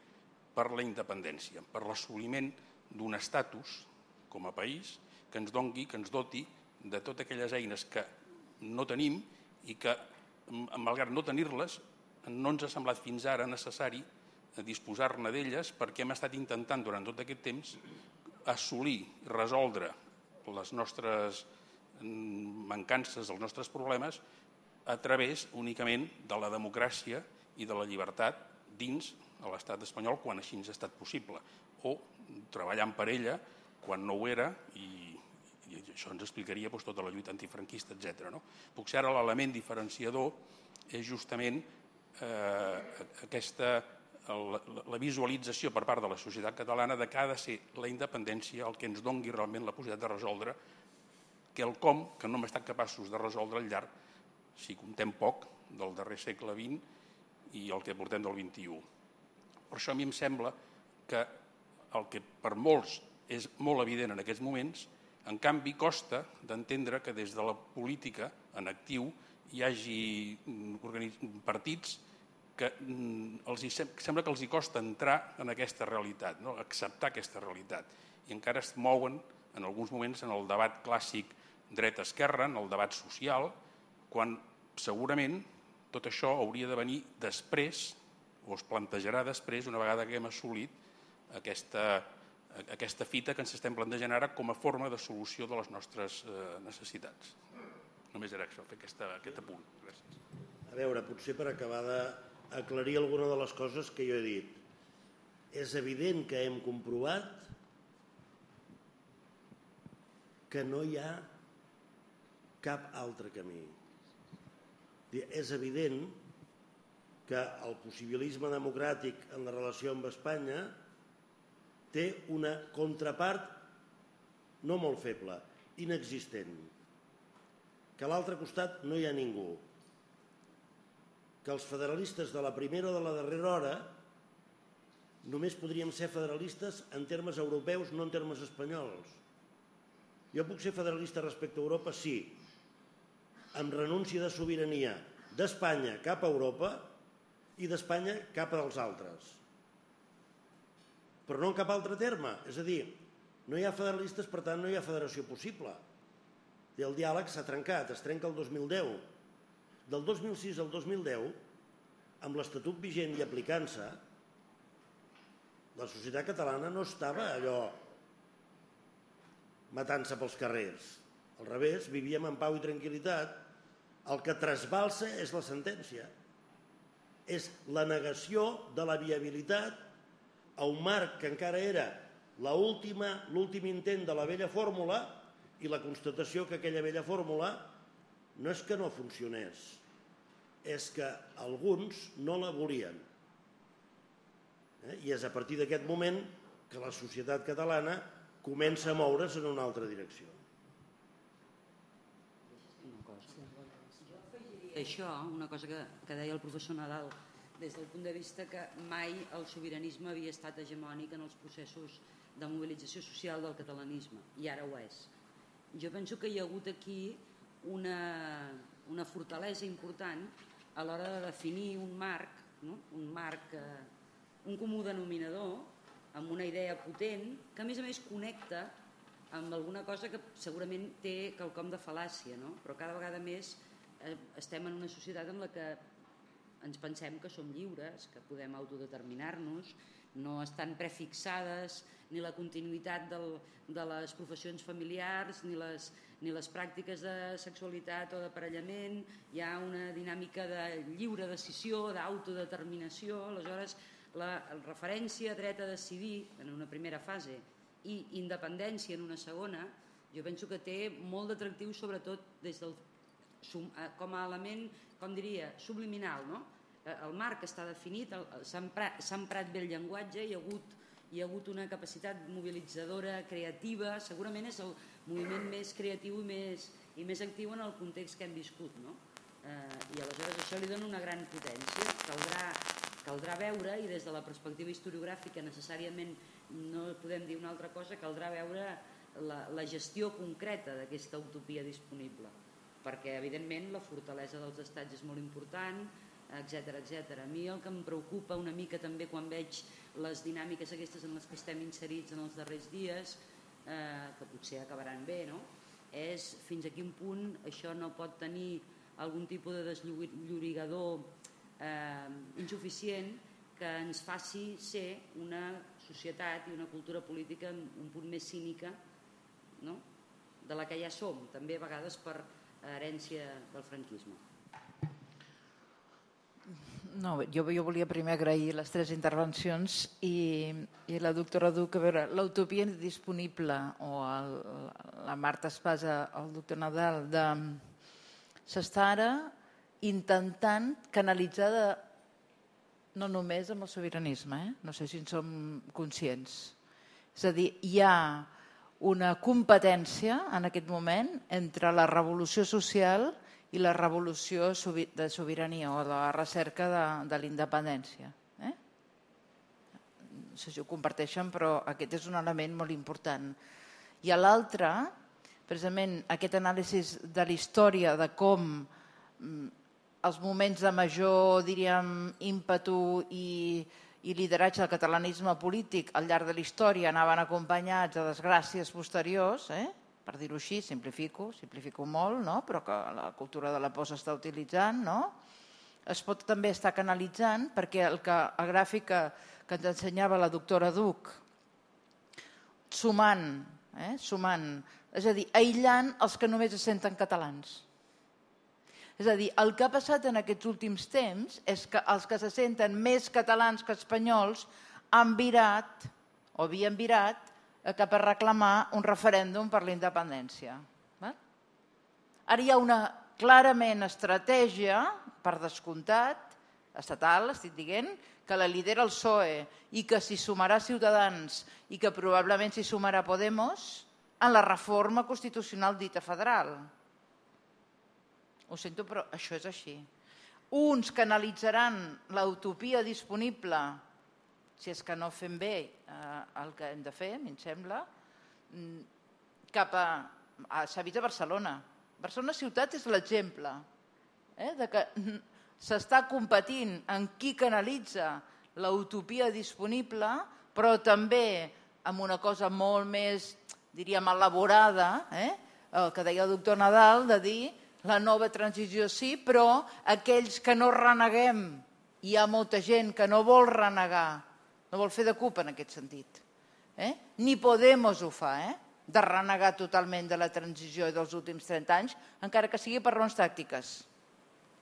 per la independència, per l'assoliment d'un estatus com a país que ens doni, que ens doti de totes aquelles eines que no tenim i que, malgrat no tenir-les, no ens ha semblat fins ara necessari disposar-ne d'elles perquè hem estat intentant durant tot aquest temps assolir, resoldre les nostres mancances, els nostres problemes a través únicament de la democràcia i de la llibertat dins de l'estat espanyol quan així ens ha estat possible, o treballant per ella quan no ho era i això ens explicaria tota la lluita antifranquista, etc. Potser ara l'element diferenciador és justament la visualització per part de la societat catalana de que ha de ser la independència el que ens doni realment la possibilitat de resoldre quelcom que no hem estat capaços de resoldre al llarg, si comptem poc, del darrer segle XX i el que portem del XXI. Per això a mi em sembla que el que per molts és molt evident en aquests moments, en canvi costa d'entendre que des de la política en actiu hi hagi partits que sembla que els costa entrar en aquesta realitat, acceptar aquesta realitat, i encara es mouen en alguns moments en el debat clàssic dreta-esquerra, en el debat social, quan segurament tot això hauria de venir després, o es plantejarà després, una vegada que hem assolit aquesta fita que ens estem plantejant ara com a forma de solució de les nostres necessitats. Només era això, fer aquest apunt. Gràcies. A veure, potser per acabar d'aclarir alguna de les coses que jo he dit. És evident que hem comprovat que no hi ha cap altre camí. És evident que el possibilisme democràtic en la relació amb Espanya té una contrapart no molt feble, inexistent, que a l'altre costat no hi ha ningú, que els federalistes de la primera o de la darrera hora només podríem ser federalistes en termes europeus, no en termes espanyols. Jo puc ser federalista respecte a Europa, sí, amb renúncia de sobirania d'Espanya cap a Europa i d'Espanya cap als altres. Però no en cap altre terme. És a dir, no hi ha federalistes, per tant no hi ha federació possible. I el diàleg s'ha trencat, es trenca el 2010. Del 2006 al 2010, amb l'Estatut vigent i aplicant-se, la societat catalana no estava allò matant-se pels carrers. Al revés, vivíem en pau i tranquil·litat. El que trasbalsa és la sentència. És la negació de la viabilitat a un marc que encara era l'últim intent de la vella fórmula i la constatació que aquella vella fórmula no és que no funcionés, és que alguns no la volien. I és a partir d'aquest moment que la societat catalana comença a moure's en una altra direcció. Això, una cosa que deia el professor Nadal, des del punt de vista que mai el sobiranisme havia estat hegemònic en els processos de mobilització social del catalanisme, i ara ho és. Jo penso que hi ha hagut aquí una fortalesa important a l'hora de definir un marc, un comú denominador, amb una idea potent, que a més connecta amb alguna cosa que segurament té quelcom de fal·làcia, però cada vegada més estem en una societat en la que ens pensem que som lliures, que podem autodeterminar-nos, no estan prefixades ni la continuïtat de les professions familiars ni les pràctiques de sexualitat o d'aparellament. Hi ha una dinàmica de lliure decisió, d'autodeterminació. Aleshores, la referència a dret a decidir en una primera fase i independència en una segona, jo penso que té molt d'atractiu, sobretot des del com a element, com diria, subliminal, no? El marc està definit, s'ha emprat bé el llenguatge, hi ha hagut una capacitat mobilitzadora, creativa, segurament és el moviment més creatiu i més actiu en el context que hem viscut, no? I aleshores això li dona una gran potència. Caldrà veure, i des de la perspectiva historiogràfica necessàriament no podem dir una altra cosa, caldrà veure la gestió concreta d'aquesta utopia disponible, perquè evidentment la fortalesa dels estats és molt important, etc. A mi el que em preocupa una mica també quan veig les dinàmiques aquestes en les que estem inserits en els darrers dies, que potser acabaran bé, és fins a quin punt això no pot tenir algun tipus de desllorigador insuficient que ens faci ser una societat i una cultura política un punt més cínica de la que ja som, també a vegades per herència del franquisme. No, jo volia primer agrair les tres intervencions i la doctora Duc, a veure, l'utopia disponible, o la Marta Espasa, el doctor Nadal, s'està ara intentant canalitzar no només amb el sobiranisme, no sé si en som conscients. És a dir, hi ha una competència en aquest moment entre la revolució social i la revolució de sobirania o de la recerca de la independència. No sé si ho comparteixen, però aquest és un element molt important. I l'altre, precisament aquest anàlisi de la història, de com els moments de major, diríem, ímpetu i lideratge del catalanisme polític al llarg de la història anaven acompanyats de desgràcies posteriors, per dir-ho així, simplifico molt, però que la cultura de la por s'està utilitzant, es pot també estar canalitzant perquè el gràfic que ens ensenyava la doctora Duc, sumant, és a dir, aïllant els que només es senten catalans. És a dir, el que ha passat en aquests últims temps és que els que se senten més catalans que espanyols han virat, o havien virat, cap a reclamar un referèndum per la independència. Ara hi ha una clarament estratègia, per descomptat, estatal, estic dient, que la lidera el PSOE i que s'hi sumarà Ciutadans i que probablement s'hi sumarà Podemos en la reforma constitucional dita federal. Ho sento, però això és així. Uns canalitzaran l'utopia disponible, si és que no fem bé el que hem de fer, a mi em sembla, cap a s'ha vist a Barcelona. Barcelona ciutat és l'exemple de que s'està competint en qui canalitza l'utopia disponible, però també amb una cosa molt més, diríem, elaborada, el que deia el doctor Nadal, de dir la nova transició sí, però aquells que no reneguem, hi ha molta gent que no vol renegar, no vol fer de CUP en aquest sentit. Ni Podemos ho fa, de renegar totalment de la transició dels últims 30 anys, encara que sigui per raons tàctiques.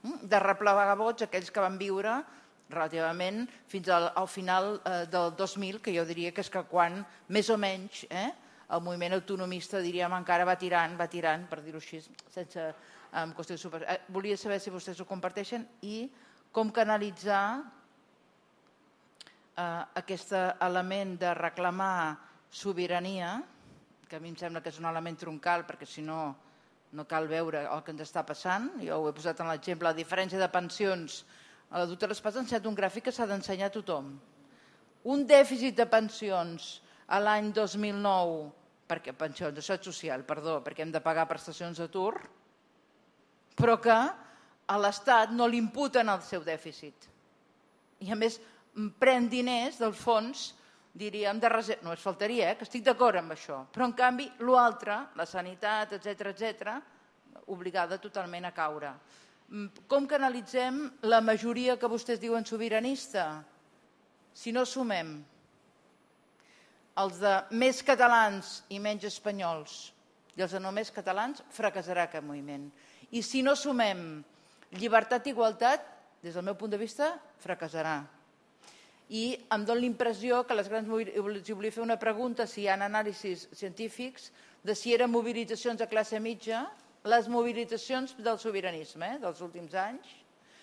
De replegar vots aquells que van viure relativament fins al final del 2000, que jo diria que és que quan, més o menys, el moviment autonomista, diríem, encara va tirant, per dir-ho així, sense qüestió de super... Volia saber si vostès ho comparteixen i com canalitzar aquest element de reclamar sobirania, que a mi em sembla que és un element troncal, perquè si no, no cal veure el que ens està passant. Jo ho he posat en l'exemple, la diferència de pensions. A la doctora Espasa ha ensenyat un gràfic que s'ha d'ensenyar a tothom. Un dèficit de pensions a l'any 2009, perquè pensions, això és social, perdó, perquè hem de pagar prestacions d'atur, però que a l'Estat no li imputen el seu dèficit. I a més pren diners del fons, diríem, de reserva. No es faltaria, que estic d'acord amb això. Però en canvi, l'altre, la sanitat, etc., obligada totalment a caure. Com canalitzem la majoria que vostès diuen sobiranista? Si no sumem els de més catalans i menys espanyols i els de només catalans, fracassarà aquest moviment. I si no sumem llibertat i igualtat, des del meu punt de vista, fracassarà. I em dóna l'impressió que les grans... Si volia fer una pregunta, si hi ha anàlisis científics, de si eren mobilitzacions de classe mitja, les mobilitzacions del sobiranisme dels últims anys,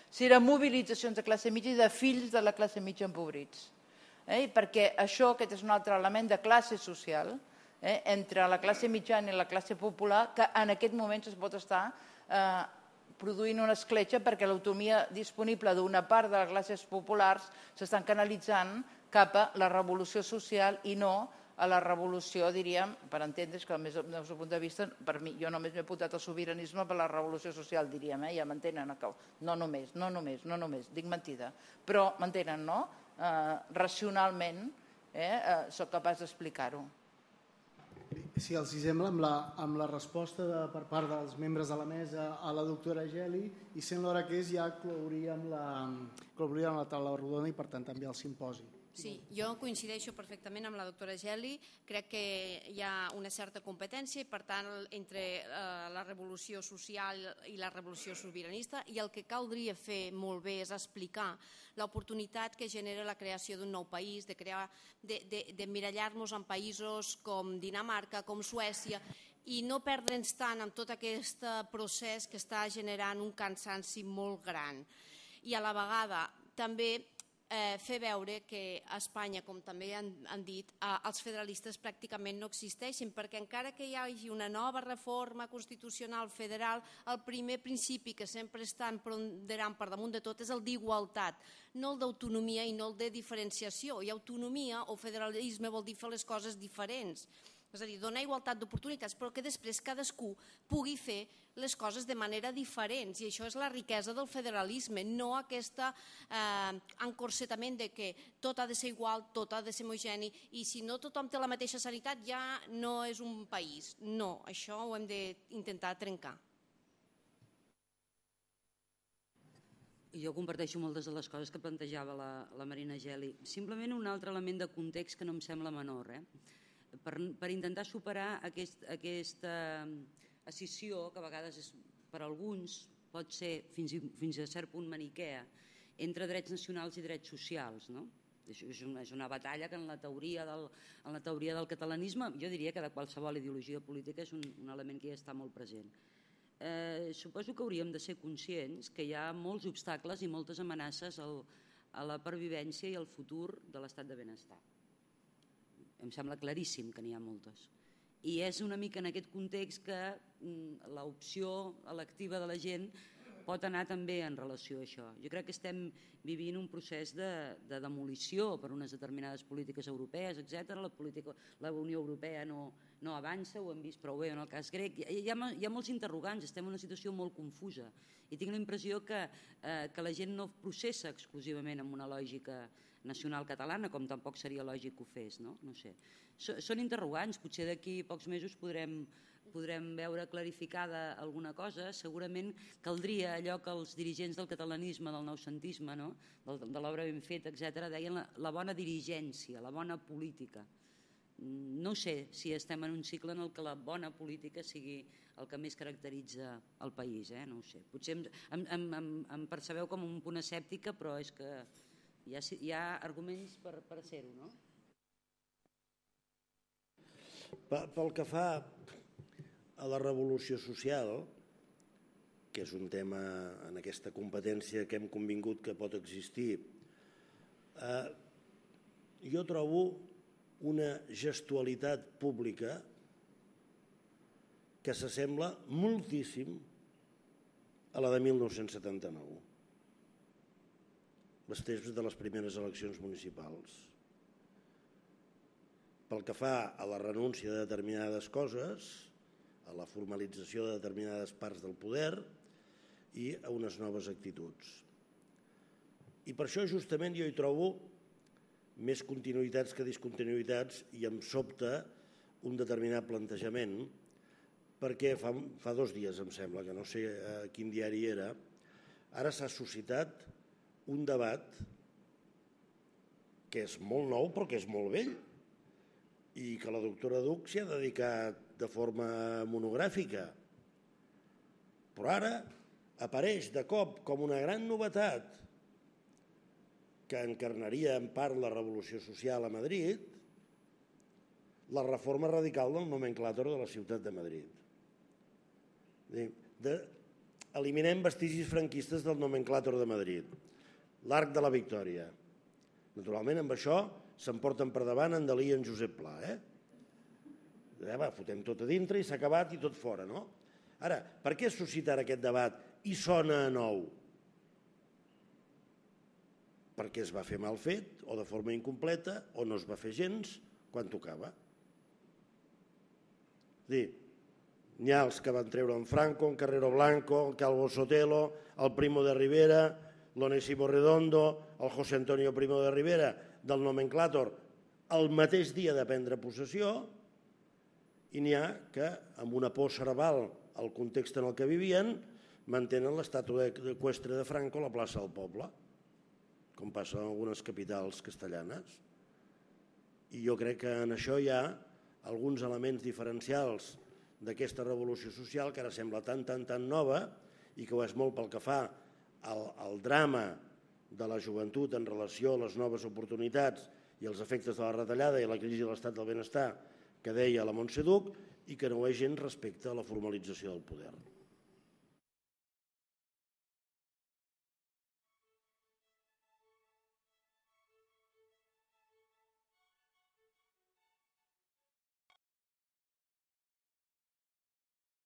si eren mobilitzacions de classe mitja i de fills de la classe mitja empobrits. Perquè això, aquest és un altre element de classe social, entre la classe mitjana i la classe popular, que en aquest moment es pot estar produint una escletxa perquè l'autonomia disponible d'una part de les classes populars s'estan canalitzant cap a la revolució social i no a la revolució, diríem, per entendre's que des del meu punt de vista, per mi, jo només m'he apuntat al sobiranisme per la revolució social, diríem, ja m'entenen? No només, dic mentida, però m'entenen, no? Racionalment soc capaç d'explicar-ho. Si els sembla, amb la resposta per part dels membres de la mesa a la doctora Geli, i sent l'hora que és, ja clouríem la taula rodona i per tant també el simposi. Sí, jo coincideixo perfectament amb la doctora Geli, crec que hi ha una certa competència i per tant entre la revolució social i la revolució sobiranista, i el que caldria fer molt bé és explicar l'oportunitat que genera la creació d'un nou país, d'emmirallar-nos en països com Dinamarca, com Suècia, i no perdre'ns tant en tot aquest procés que està generant un cansanci molt gran. I a la vegada també fer veure que a Espanya, com també han dit, els federalistes pràcticament no existeixen, perquè encara que hi hagi una nova reforma constitucional federal, el primer principi que sempre estan ponderant per damunt de tot és el d'igualtat, no el d'autonomia i no el de diferenciació. I autonomia o federalisme vol dir fer les coses diferents. És a dir, donar igualtat d'oportunitats, però que després cadascú pugui fer les coses de manera diferent. I això és la riquesa del federalisme, no aquest encorsetament de que tot ha de ser igual, tot ha de ser homogeni, i si no tothom té la mateixa sanitat ja no és un país. No, això ho hem d'intentar trencar. Jo comparteixo moltes de les coses que plantejava la Marina Geli. Simplement un altre element de context que no em sembla menor, per intentar superar aquesta escissió que a vegades per alguns pot ser fins a cert punt maniquea entre drets nacionals i drets socials. És una batalla que en la teoria del catalanisme, jo diria que de qualsevol ideologia política és un element que ja està molt present. Suposo que hauríem de ser conscients que hi ha molts obstacles i moltes amenaces a la pervivència i al futur de l'estat de benestar. Em sembla claríssim que n'hi ha moltes. I és una mica en aquest context que l'opció electiva de la gent pot anar també en relació a això. Jo crec que estem vivint un procés de demolició per unes determinades polítiques europees, etc. La Unió Europea no avança, ho hem vist prou bé en el cas grec. Hi ha molts interrogants, estem en una situació molt confusa i tinc la impressió que la gent no processa exclusivament amb una lògica nacional catalana, com tampoc seria lògic que ho fes, no? No sé. Són interrogants, potser d'aquí pocs mesos podrem veure clarificada alguna cosa. Segurament caldria allò que els dirigents del catalanisme, del noucentisme, de l'obra ben feta, etc., deien la bona dirigència, la bona política. No sé si estem en un cicle en què la bona política sigui el que més caracteritza el país, no ho sé. Potser em percebeu com un punt escèptica, però és que hi ha arguments per ser-ho, no? Pel que fa a la revolució social, que és un tema en aquesta competència que hem convingut que pot existir, jo trobo una gestualitat pública que s'assembla moltíssim a la de 1979, les temps de les primeres eleccions municipals. Pel que fa a la renúncia de determinades coses, a la formalització de determinades parts del poder i a unes noves actituds. I per això justament jo hi trobo més continuïtats que discontinuïtats i em sobta un determinat plantejament, perquè fa 2 dies, em sembla, que no sé a quin diari era, ara s'ha suscitat un debat que és molt nou però que és molt vell i que la doctora Duch s'hi ha dedicat de forma monogràfica. Però ara apareix de cop com una gran novetat que encarnaria en part la revolució social a Madrid, la reforma radical del nomenclàtor de la ciutat de Madrid. Eliminem vestigis franquistes del nomenclàtor de Madrid, l'Arc de la Victòria. Naturalment, amb això s'emporten per davant en Dalí i en Josep Pla. Fotem tot a dintre i s'ha acabat i tot fora, no? Ara, per què suscitar aquest debat i sona a nou? Perquè es va fer mal fet, o de forma incompleta, o no es va fer gens quan tocava. N'hi ha els que van treure en Franco, en Carrero Blanco, en Calvo Sotelo, el Primo de Rivera, l'Onésimo Redondo, el José Antonio Primo de Rivera, del nomenclàtor, el mateix dia de prendre possessió, i n'hi ha que, amb una por cerebral al context en el que vivien, mantenen l'estàtua eqüestre de Franco a la plaça del Poble, com passa en algunes capitals castellanes. I jo crec que en això hi ha alguns elements diferencials d'aquesta revolució social que ara sembla tan nova i que ho és molt pel que fa al drama de la joventut en relació a les noves oportunitats i els efectes de la retallada i la crisi de l'estat del benestar que deia la Montse Duch i que no ho és gens respecte a la formalització del poder.